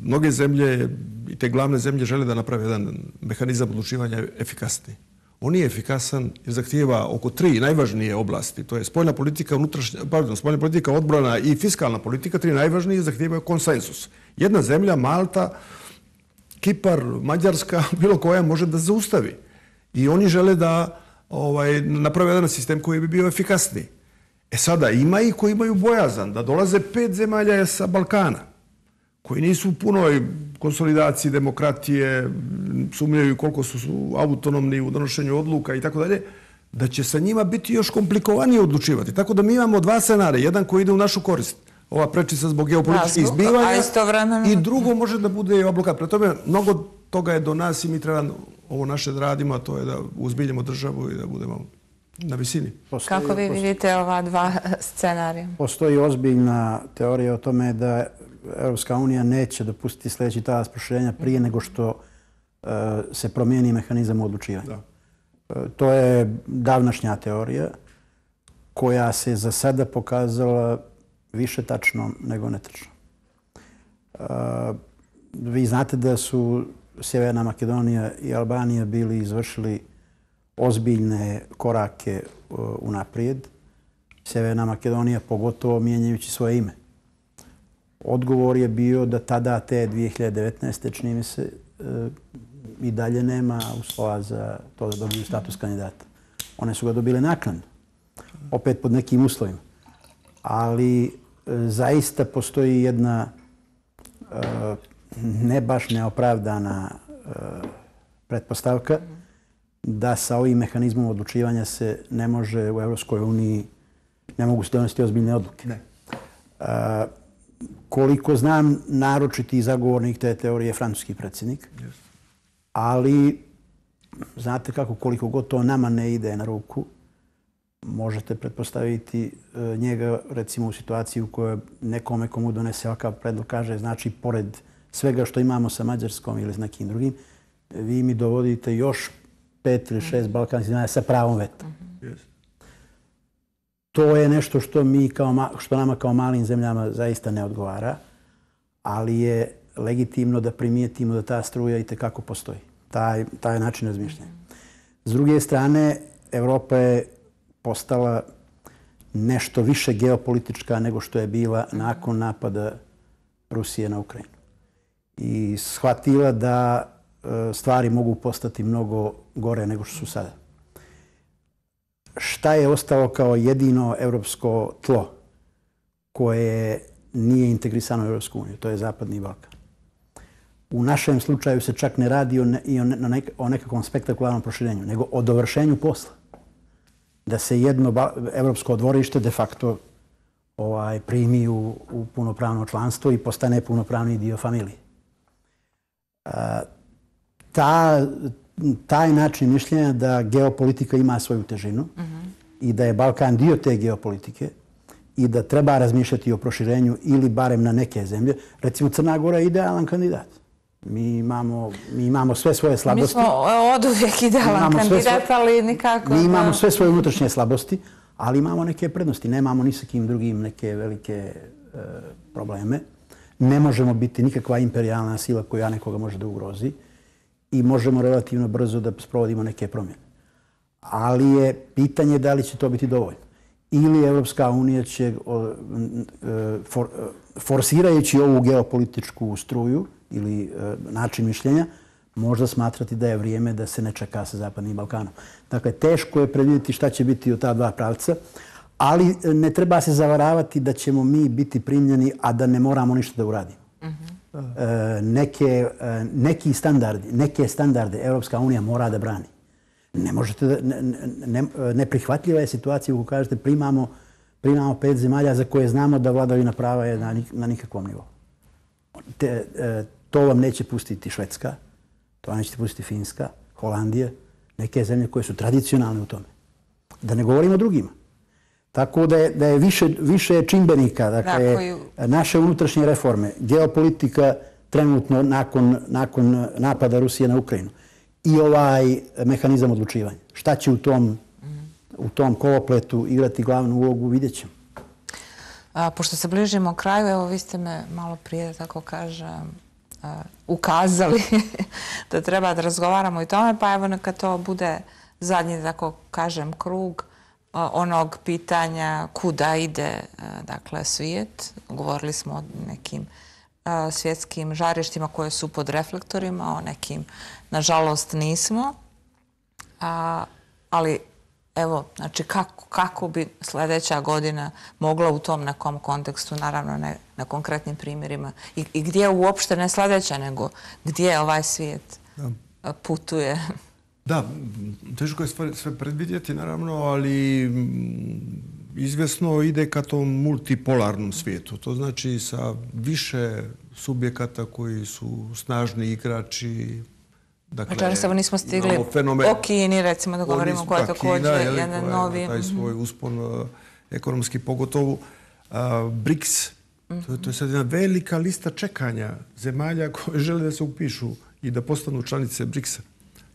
mnoge zemlje i te glavne zemlje žele da naprave jedan mehanizam odlučivanja efikasniji. On nije efikasan jer zahtijeva oko tri najvažnije oblasti. To je spoljna politika, unutrašnja, pardon, spoljna politika, odbrana i fiskalna politika. Tri najvažnije zahtijevaju konsensus. Jedna zemlja, Malta, Kipar, Mađarska, bilo koja može da zaustavi. I oni žele da ovaj, naprave jedan sistem koji bi bio efikasniji. E sada, ima i koji imaju bojazan da dolaze pet zemalja sa Balkana, koji nisu u punoj konsolidaciji demokratije, sumnjaju koliko su autonomni u donošenju odluka i tako dalje, da će sa njima biti još komplikovanije odlučivati. Tako da mi imamo dva scenarija. Jedan koji ide u našu korist, ova prečica zbog geopolitičkih izbivanja, i drugo može da bude i ova blokada. Pre tome, mnogo toga je do nas i mi treba ovo naše da radimo, a to je da uzbiljemo državu i da budemo na visini. Postoji, Kako vi vidite ova dva scenarija? Postoji ozbiljna teorija o tome da Europska unija neće dopustiti sljedeći talas proširenja prije nego što uh, se promijeni mehanizam odlučivanja. Uh, to je davnašnja teorija koja se za sada pokazala više tačnom nego netačnom. Uh, vi znate da su Sjeverna Makedonija i Albanija bili izvršili ozbiljne korake uh, unaprijed. Sjeverna Makedonija pogotovo mijenjajući svoje ime. Odgovor je bio da tada te dvije hiljade devetnaeste čini mi se i dalje nema uslova za to da dobiju status kandidata. One su ga dobile naknadno, opet pod nekim uslovima. Ali zaista postoji jedna ne baš neopravdana pretpostavka da sa ovim mehanizmom odlučivanja se ne može u Evropskoj uniji, ne mogu se donositi ozbiljne odluke. Ne. Koliko znam, naročiti zagovornik te teorije je francuski predsjednik. Yes. Ali, znate kako, koliko god to nama ne ide na ruku, možete pretpostaviti njega, recimo, u situaciji u kojoj nekome komu donese ovakav predlog kaže, znači, pored svega što imamo sa Mađarskom ili s nekim drugim, vi mi dovodite još pet ili šest balkanskih zemalja sa pravom veta. Yes. To je nešto što, mi kao, što nama kao malim zemljama zaista ne odgovara, ali je legitimno da primijetimo da ta struja itekako postoji. Taj, taj način razmišljanja. S druge strane, Evropa je postala nešto više geopolitička nego što je bila nakon napada Rusije na Ukrajinu. I shvatila da stvari mogu postati mnogo gore nego što su sada. Šta je ostalo kao jedino evropsko tlo koje nije integrisano u Evropsku uniju? To je Zapadni Balkan. U našem slučaju se čak ne radi o, ne, i o, ne, o nekakvom spektakularnom proširenju, nego o dovršenju posla. Da se jedno evropsko dvorište de facto ovaj, primi u, u punopravno članstvo i postane punopravni dio familije. A, ta, taj način mišljenja da geopolitika ima svoju težinu mm-hmm. i da je Balkan dio te geopolitike i da treba razmišljati o proširenju ili barem na neke zemlje. Recimo, Crna Gora je idealan kandidat. Mi imamo, mi imamo sve svoje slabosti. Mi smo od uvijek idealan kandidat, svoje, ali nikako... Mi imamo sve svoje unutrašnje slabosti, ali imamo neke prednosti. Nemamo ni sa kim drugim neke velike e, probleme. Ne možemo biti nikakva imperijalna sila koja nekoga može da ugrozi i možemo relativno brzo da sprovodimo neke promjene. Ali je pitanje da li će to biti dovoljno. Ili Evropska unija će, for, forsirajući ovu geopolitičku struju ili način mišljenja, možda smatrati da je vrijeme da se ne čeka sa Zapadnim Balkanom. Dakle, teško je predvidjeti šta će biti od ta dva pravca, ali ne treba se zavaravati da ćemo mi biti primljeni, a da ne moramo ništa da uradimo. Neke, neki standardi, neke standarde Evropska unija mora da brani. Ne možete da, ne, ne, neprihvatljiva je situacija kako kažete primamo, primamo pet zemalja za koje znamo da vladavina prava je na, na nikakvom nivou. Te, to vam neće pustiti Švedska, to vam neće pustiti Finska, Holandija, neke zemlje koje su tradicionalne u tome. Da ne govorimo o drugima. Tako da je, da je više, više čimbenika, dakle, da, koju... naše unutrašnje reforme, geopolitika trenutno nakon, nakon napada Rusije na Ukrajinu i ovaj mehanizam odlučivanja. Šta će u tom, u tom kolopletu igrati glavnu ulogu, vidjet ćemo. A, pošto se bližimo kraju, evo vi ste me malo prije, tako kažem, a, ukazali da treba da razgovaramo i tome, pa evo neka to bude zadnji, tako kažem, krug onog pitanja kuda ide, dakle, svijet. Govorili smo o nekim svjetskim žarištima koje su pod reflektorima, o nekim, nažalost, nismo. A, ali, evo, znači, kako, kako bi sljedeća godina mogla u tom nekom kontekstu, naravno ne na konkretnim primjerima, i, i gdje uopšte ne sljedeća, nego gdje ovaj svijet da. putuje? Da, teško je sve, sve predvidjeti, naravno, ali izvjesno ide ka tom multipolarnom svijetu. To znači sa više subjekata koji su snažni igrači. Dakle, znači, samo nismo stigli fenomen, o Kini, recimo, da govorimo koja je također jedan novi... Taj svoj uspon uh, ekonomski, pogotovo uh, BRICS. Mm-hmm. to, to je sad jedna velika lista čekanja zemalja koje žele da se upišu i da postanu članice BRICS-a.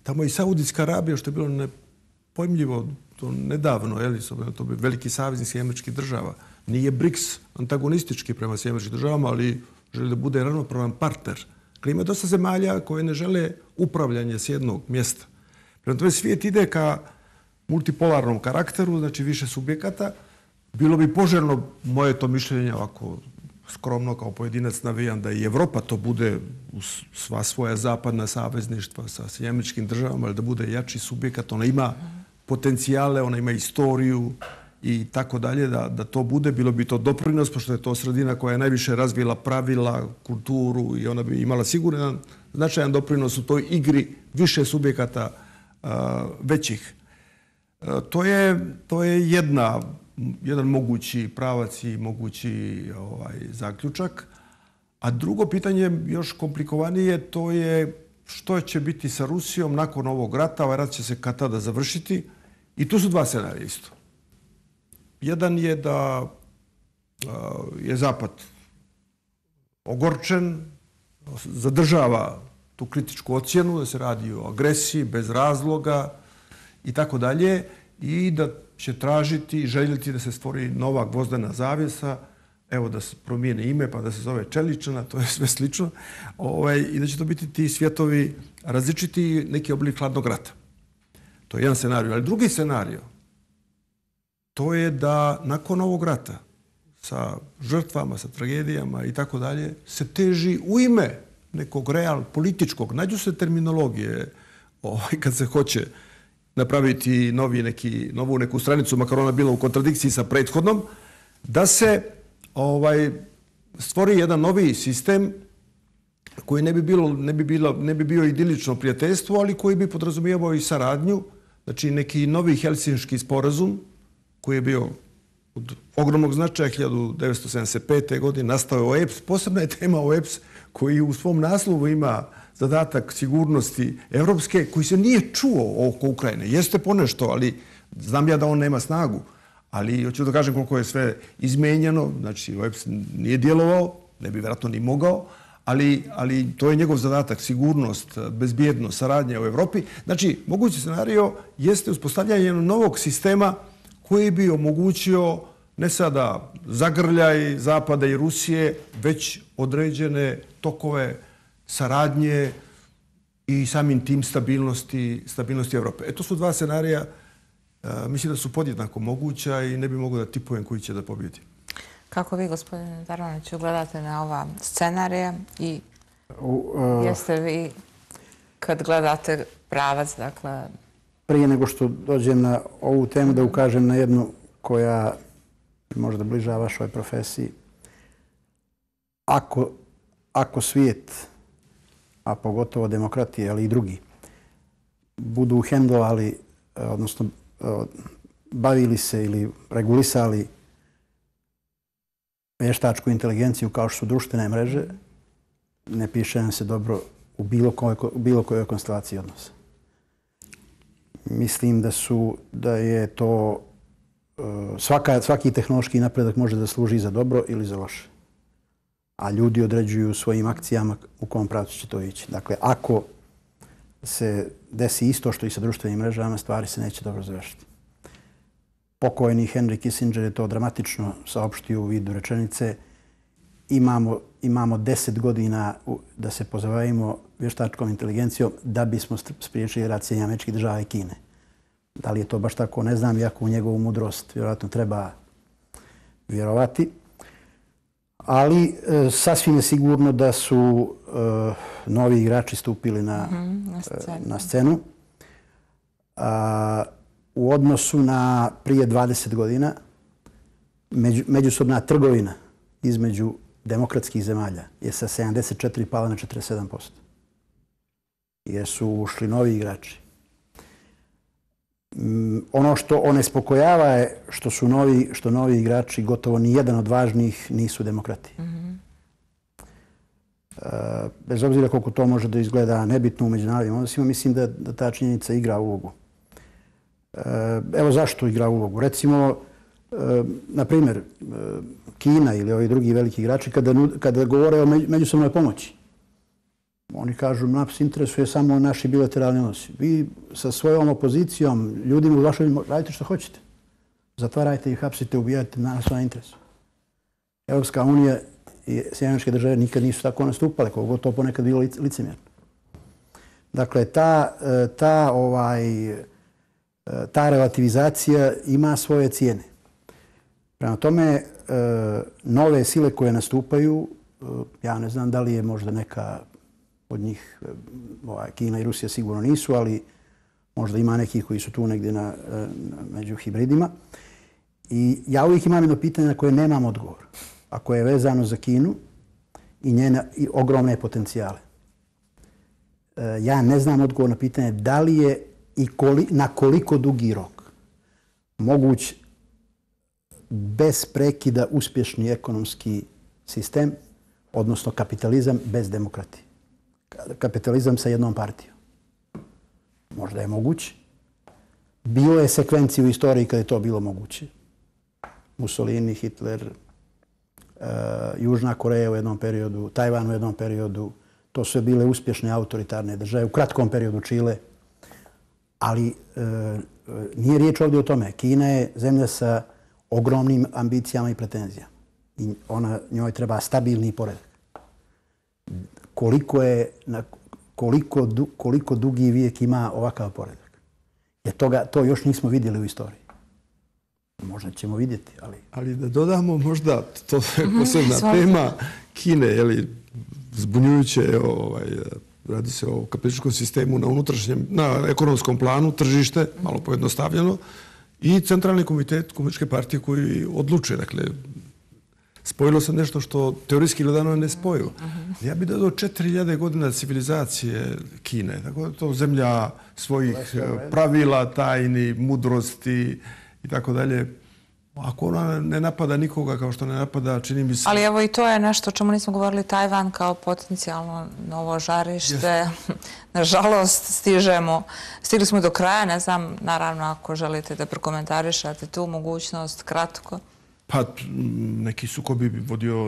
Tamo i Saudijska Arabija, što je bilo nepojmljivo to nedavno, je li, to bi veliki saveznik Sjedinjenih Američkih Država. Nije BRICS antagonistički prema Sjedinjenim Američkim Državama, ali želi da bude ravnopravan partner. Dakle, ima dosta zemalja koje ne žele upravljanje s jednog mjesta. Prema tome, svijet ide ka multipolarnom karakteru, znači više subjekata. Bilo bi poželjno, moje to mišljenje, ovako skromno kao pojedinac navijam, da i Evropa to bude u sva svoja zapadna savezništva sa Sjedinjenim Američkim Državama, ali da bude jači subjekat. Ona ima potencijale, ona ima istoriju i tako dalje, da, da to bude. Bilo bi to doprinos, pošto je to sredina koja je najviše razvila pravila, kulturu i ona bi imala siguran značajan doprinos u toj igri više subjekata uh, većih. Uh, to je, to je jedna jedan mogući pravac i mogući ovaj, zaključak. A drugo pitanje, još komplikovanije, to je što će biti sa Rusijom nakon ovog rata. Ovaj rat će se kad tada završiti. I tu su dva scenarija isto. Jedan je da uh, je Zapad ogorčen, zadržava tu kritičku ocjenu, da se radi o agresiji bez razloga i tako dalje, i da će tražiti i željeti da se stvori nova gvozdena zavjesa, evo da se promijene ime pa da se zove Čeličana, to je sve slično, ovaj, i da će to biti ti svjetovi različiti, neki oblik hladnog rata. To je jedan scenario. Ali drugi scenario, to je da nakon ovog rata sa žrtvama, sa tragedijama i tako dalje, se teži u ime nekog real političkog, nađu se terminologije ovaj, kad se hoće napraviti novi neki, novu neku stranicu, makar ona bila u kontradikciji sa prethodnom, da se ovaj, stvori jedan novi sistem koji ne bi, bilo, ne, bi bilo, ne bi bio idilično prijateljstvo, ali koji bi podrazumijevao i saradnju. Znači neki novi Helsinški sporazum koji je bio od ogromnog značaja hiljadu devetsto sedamdeset pete. godine, nastao je O E P S. Posebna je tema O E P S koji u svom naslovu ima zadatak sigurnosti evropske, koji se nije čuo oko Ukrajine. Jeste ponešto, ali znam ja da on nema snagu. Ali hoću da kažem koliko je sve izmenjeno. Znači, O E P S nije djelovao, ne bi vjerojatno ni mogao, ali, ali to je njegov zadatak, sigurnost, bezbjednost, saradnja u Evropi. Znači, mogući scenario jeste uspostavljanje novog sistema koji bi omogućio ne sada zagrljaj Zapada i Rusije, već određene tokove saradnje i samim tim stabilnosti, stabilnosti Evrope. E, to su dva scenarija, mislim da su podjednako moguća i ne bi mogo da tipujem koji će da pobjedi. Kako vi, gospodine Darmanoviću, gledate na ova scenarija i jeste vi, kad gledate pravac, dakle... Prije nego što dođem na ovu temu, da ukažem na jednu koja možda bliža vašoj profesiji. Ako, ako svijet, a pogotovo demokratije, ali i drugi, budu hendlovali, odnosno bavili se ili regulisali vještačku inteligenciju kao što su društvene mreže, ne piše nam se dobro u bilo kojoj, bilo kojoj konstelaciji odnosa. Mislim da su, da je to svaka, svaki tehnološki napredak može da služi za dobro ili za loše. A ljudi određuju svojim akcijama u kom pravcu će to ići. Dakle, ako se desi isto što i sa društvenim mrežama, stvari se neće dobro završiti. Pokojni Henry Kissinger je to dramatično saopštio u vidu rečenice. Imamo, imamo deset godina da se pozabavimo vještačkom inteligencijom da bismo spriječili rat Sjedinjenih Američkih Država i Kine. Da li je to baš tako, ne znam, iako u njegovu mudrost vjerojatno treba vjerovati. Ali e, sasvim je sigurno da su e, novi igrači stupili na, mm-hmm, na scenu. Na scenu. A, u odnosu na prije dvadeset godina među, međusobna trgovina između demokratskih zemalja je sa sedamdeset četiri pala na četrdeset sedam posto. Jer su ušli novi igrači. Mm, ono što onespokojava je što su novi, što novi igrači, gotovo ni jedan od važnijih, nisu demokrati. Mm-hmm. e, bez obzira koliko to može da izgleda nebitno u međunarodnim odnosima, mislim da, da ta činjenica igra ulogu. E, evo zašto igra ulogu. Recimo, e, na primjer, e, Kina ili ovi drugi veliki igrači, kada, kada govore o međusobnoj pomoći, oni kažu, nas interesuje samo naši bilateralni odnosi. Vi sa svojom opozicijom, ljudima u vašoj, radite što hoćete. Zatvarajte i hapsite, ubijate na svoj interes. Evropska unija i Sjedinjene Američke Države nikad nisu tako nastupale, koliko to ponekad bilo licemjerno. Dakle, ta, ta, ovaj, ta relativizacija ima svoje cijene. Prema tome, nove sile koje nastupaju, ja ne znam da li je možda neka od njih, ovaj, Kina i Rusija sigurno nisu, ali možda ima nekih koji su tu negdje na, na, među hibridima. I ja uvijek imam jedno pitanje na koje nemam odgovor, a koje je vezano za Kinu i njene i ogromne potencijale. E, ja ne znam odgovor na pitanje da li je i koli, na koliko dugi rok moguć bez prekida uspješni ekonomski sistem, odnosno kapitalizam bez demokratije. Kapitalizam sa jednom partijom. Možda je moguće. Bilo je sekvencije u istoriji kada je to bilo moguće. Mussolini, Hitler, uh, Južna Koreja u jednom periodu, Tajvan u jednom periodu. To su bile uspješne autoritarne države. U kratkom periodu Čile. Ali uh, nije riječ ovdje o tome. Kina je zemlja sa ogromnim ambicijama i pretenzijama. I ona, njoj treba stabilni poredak. Koliko, je, koliko, koliko dugi vijek ima ovakav poredak. Jer toga, to još nismo vidjeli u istoriji. Možda ćemo vidjeti, ali... Ali da dodamo možda, to je posebna tema Kine, jeli, zbunjujuće, ovaj, radi se o kapitalističkom sistemu na unutrašnjem, na ekonomskom planu, tržište, malo pojednostavljeno, i centralni komitet Komunističke partije koji odlučuje, dakle, spojilo se nešto što teorijski gledano je nespojivo. Ja bih dodao četiri hiljade godina civilizacije Kine. Tako da to zemlja svojih pravila, tajni, mudrosti i tako dalje. Ako ona ne napada nikoga kao što ne napada, čini mi se... Ali evo i to je nešto o čemu nismo govorili, Tajvan kao potencijalno novo žarište. Nažalost, stižemo, stigli smo do kraja. Ne znam, naravno, ako želite da prokomentarišate tu mogućnost, kratko. Pa neki sukobi bi vodio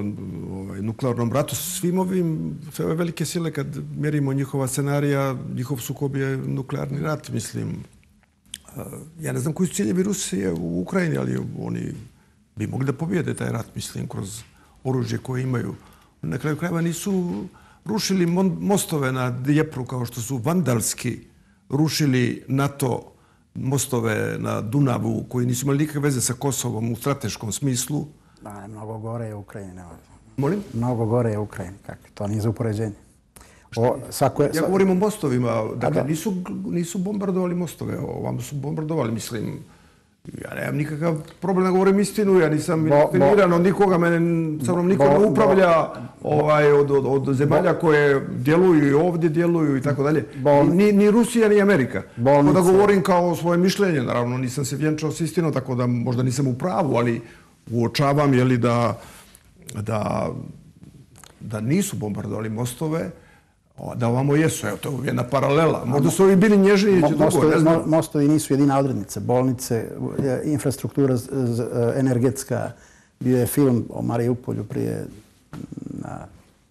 ovaj, nuklearnom ratu. Svim ovim, sve ove velike sile, kad mjerimo njihova scenarija, njihov sukob je nuklearni rat, mislim. Ja ne znam koji su ciljevi Rusije u Ukrajini, ali oni bi mogli da pobijede taj rat, mislim, kroz oružje koje imaju. Na kraju krajeva nisu rušili mostove na Dnjepru kao što su vandalski rušili NATO mostove na Dunavu koji nisu imali nikakve veze sa Kosovom u strateškom smislu. Da, mnogo gore je u Ukrajini. Molim? Mnogo gore je u Ukrajini. To nije za upoređenje. O, svako je, ja govorim o mostovima. Dakle, nisu, nisu bombardovali mostove. Ovamo su bombardovali, mislim. Ja nemam nikakav problem da govorim istinu. Ja nisam indoktriniran od nikoga. Mene sa mnom niko ne upravlja ovaj, od, od, od zemalja koje djeluju i ovdje djeluju i tako dalje. Ni, ni Rusija, ni Amerika. Tako da govorim kao svoje mišljenje. Naravno, nisam se vjenčao s istinom, tako da možda nisam u pravu, ali uočavam je li da, da, da nisu bombardovali mostove, da ovamo jesu. Evo, to je jedna paralela. Možda su ovi bili nježniji, će drugo, ne znam. Mostovi nisu jedina odrednica. Bolnice, infrastruktura energetska. Bio je film o Mariupolju prije na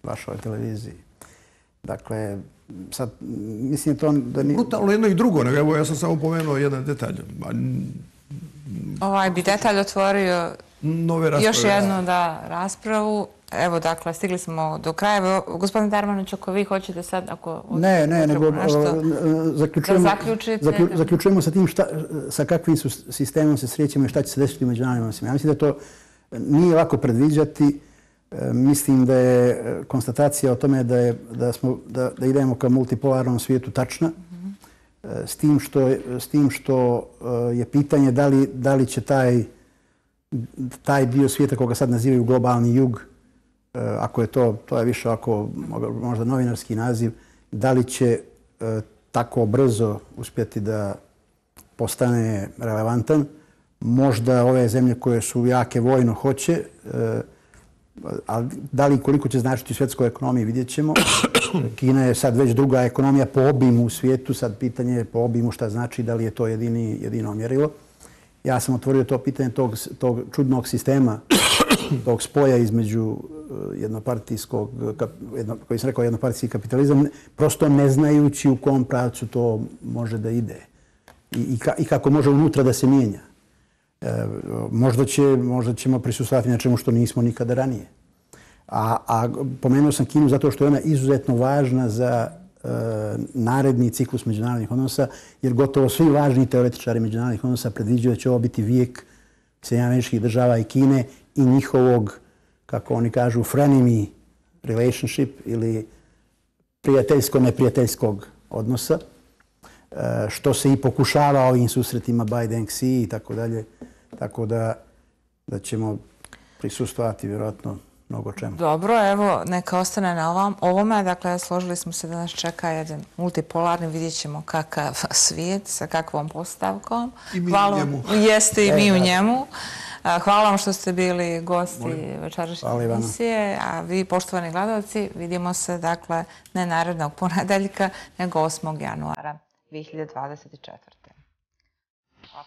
vašoj televiziji. Dakle, sad, mislim to da nije... Brutalno jedno i drugo. Evo, ja sam samo pomenuo jedan detalj. Ovaj bi detalj otvorio još jednu da raspravu. Evo, dakle, stigli smo do kraja. Gospodin Darmanović, ako vi hoćete sad, ako... Ne, ne, nego zaključujemo sa tim sa kakvim sistemom se srećemo i šta će se desiti u međunarodnim odnosima. Ja mislim da to nije lako predviđati. Mislim da je konstatacija o tome da idemo ka multipolarnom svijetu tačna. S tim što je pitanje da li će taj dio svijeta koga sad nazivaju globalni jug, ako je to, to je više ovako možda novinarski naziv, da li će tako brzo uspjeti da postane relevantan. Možda ove zemlje koje su jake vojno hoće, ali da li koliko će značiti u svjetskoj ekonomiji vidjet ćemo. Kina je sad već druga ekonomija po obimu u svijetu, sad pitanje je po obimu šta znači, da li je to jedini, jedino mjerilo. Ja sam otvorio to pitanje tog, tog čudnog sistema, tog spoja između jednopartijskog, jedno, koji sam rekao jednopartijski kapitalizam, prosto ne znajući u kom pravcu to može da ide i, i, ka, i kako može unutra da se mijenja. E, možda, će, možda ćemo prisustvovati na čemu što nismo nikada ranije. A, a pomenuo sam Kinu zato što je ona izuzetno važna za e, naredni ciklus međunarodnih odnosa, jer gotovo svi važni teoretičari međunarodnih odnosa predviđaju da će ovo biti vijek Sjedinjenih Američkih Država i Kine i njihovog, kako oni kažu, frenemy relationship ili prijateljsko-neprijateljskog odnosa, što se i pokušava ovim susretima Biden-Xi i tako dalje. Tako da, da ćemo prisustvovati vjerojatno mnogo čemu. Dobro, evo, neka ostane na ovom, ovome. Dakle, složili smo se da nas čeka jedan multipolarni, vidjet ćemo kakav svijet sa kakvom postavkom. I mi Hvala, u njemu. Jeste i mi e, u njemu. Hvala vam što ste bili gosti večerašnje emisije, a vi, poštovani gledalci, vidimo se, dakle, ne narednog ponedeljka, nego osmog januara dvije hiljade dvadeset četvrte. Hvala.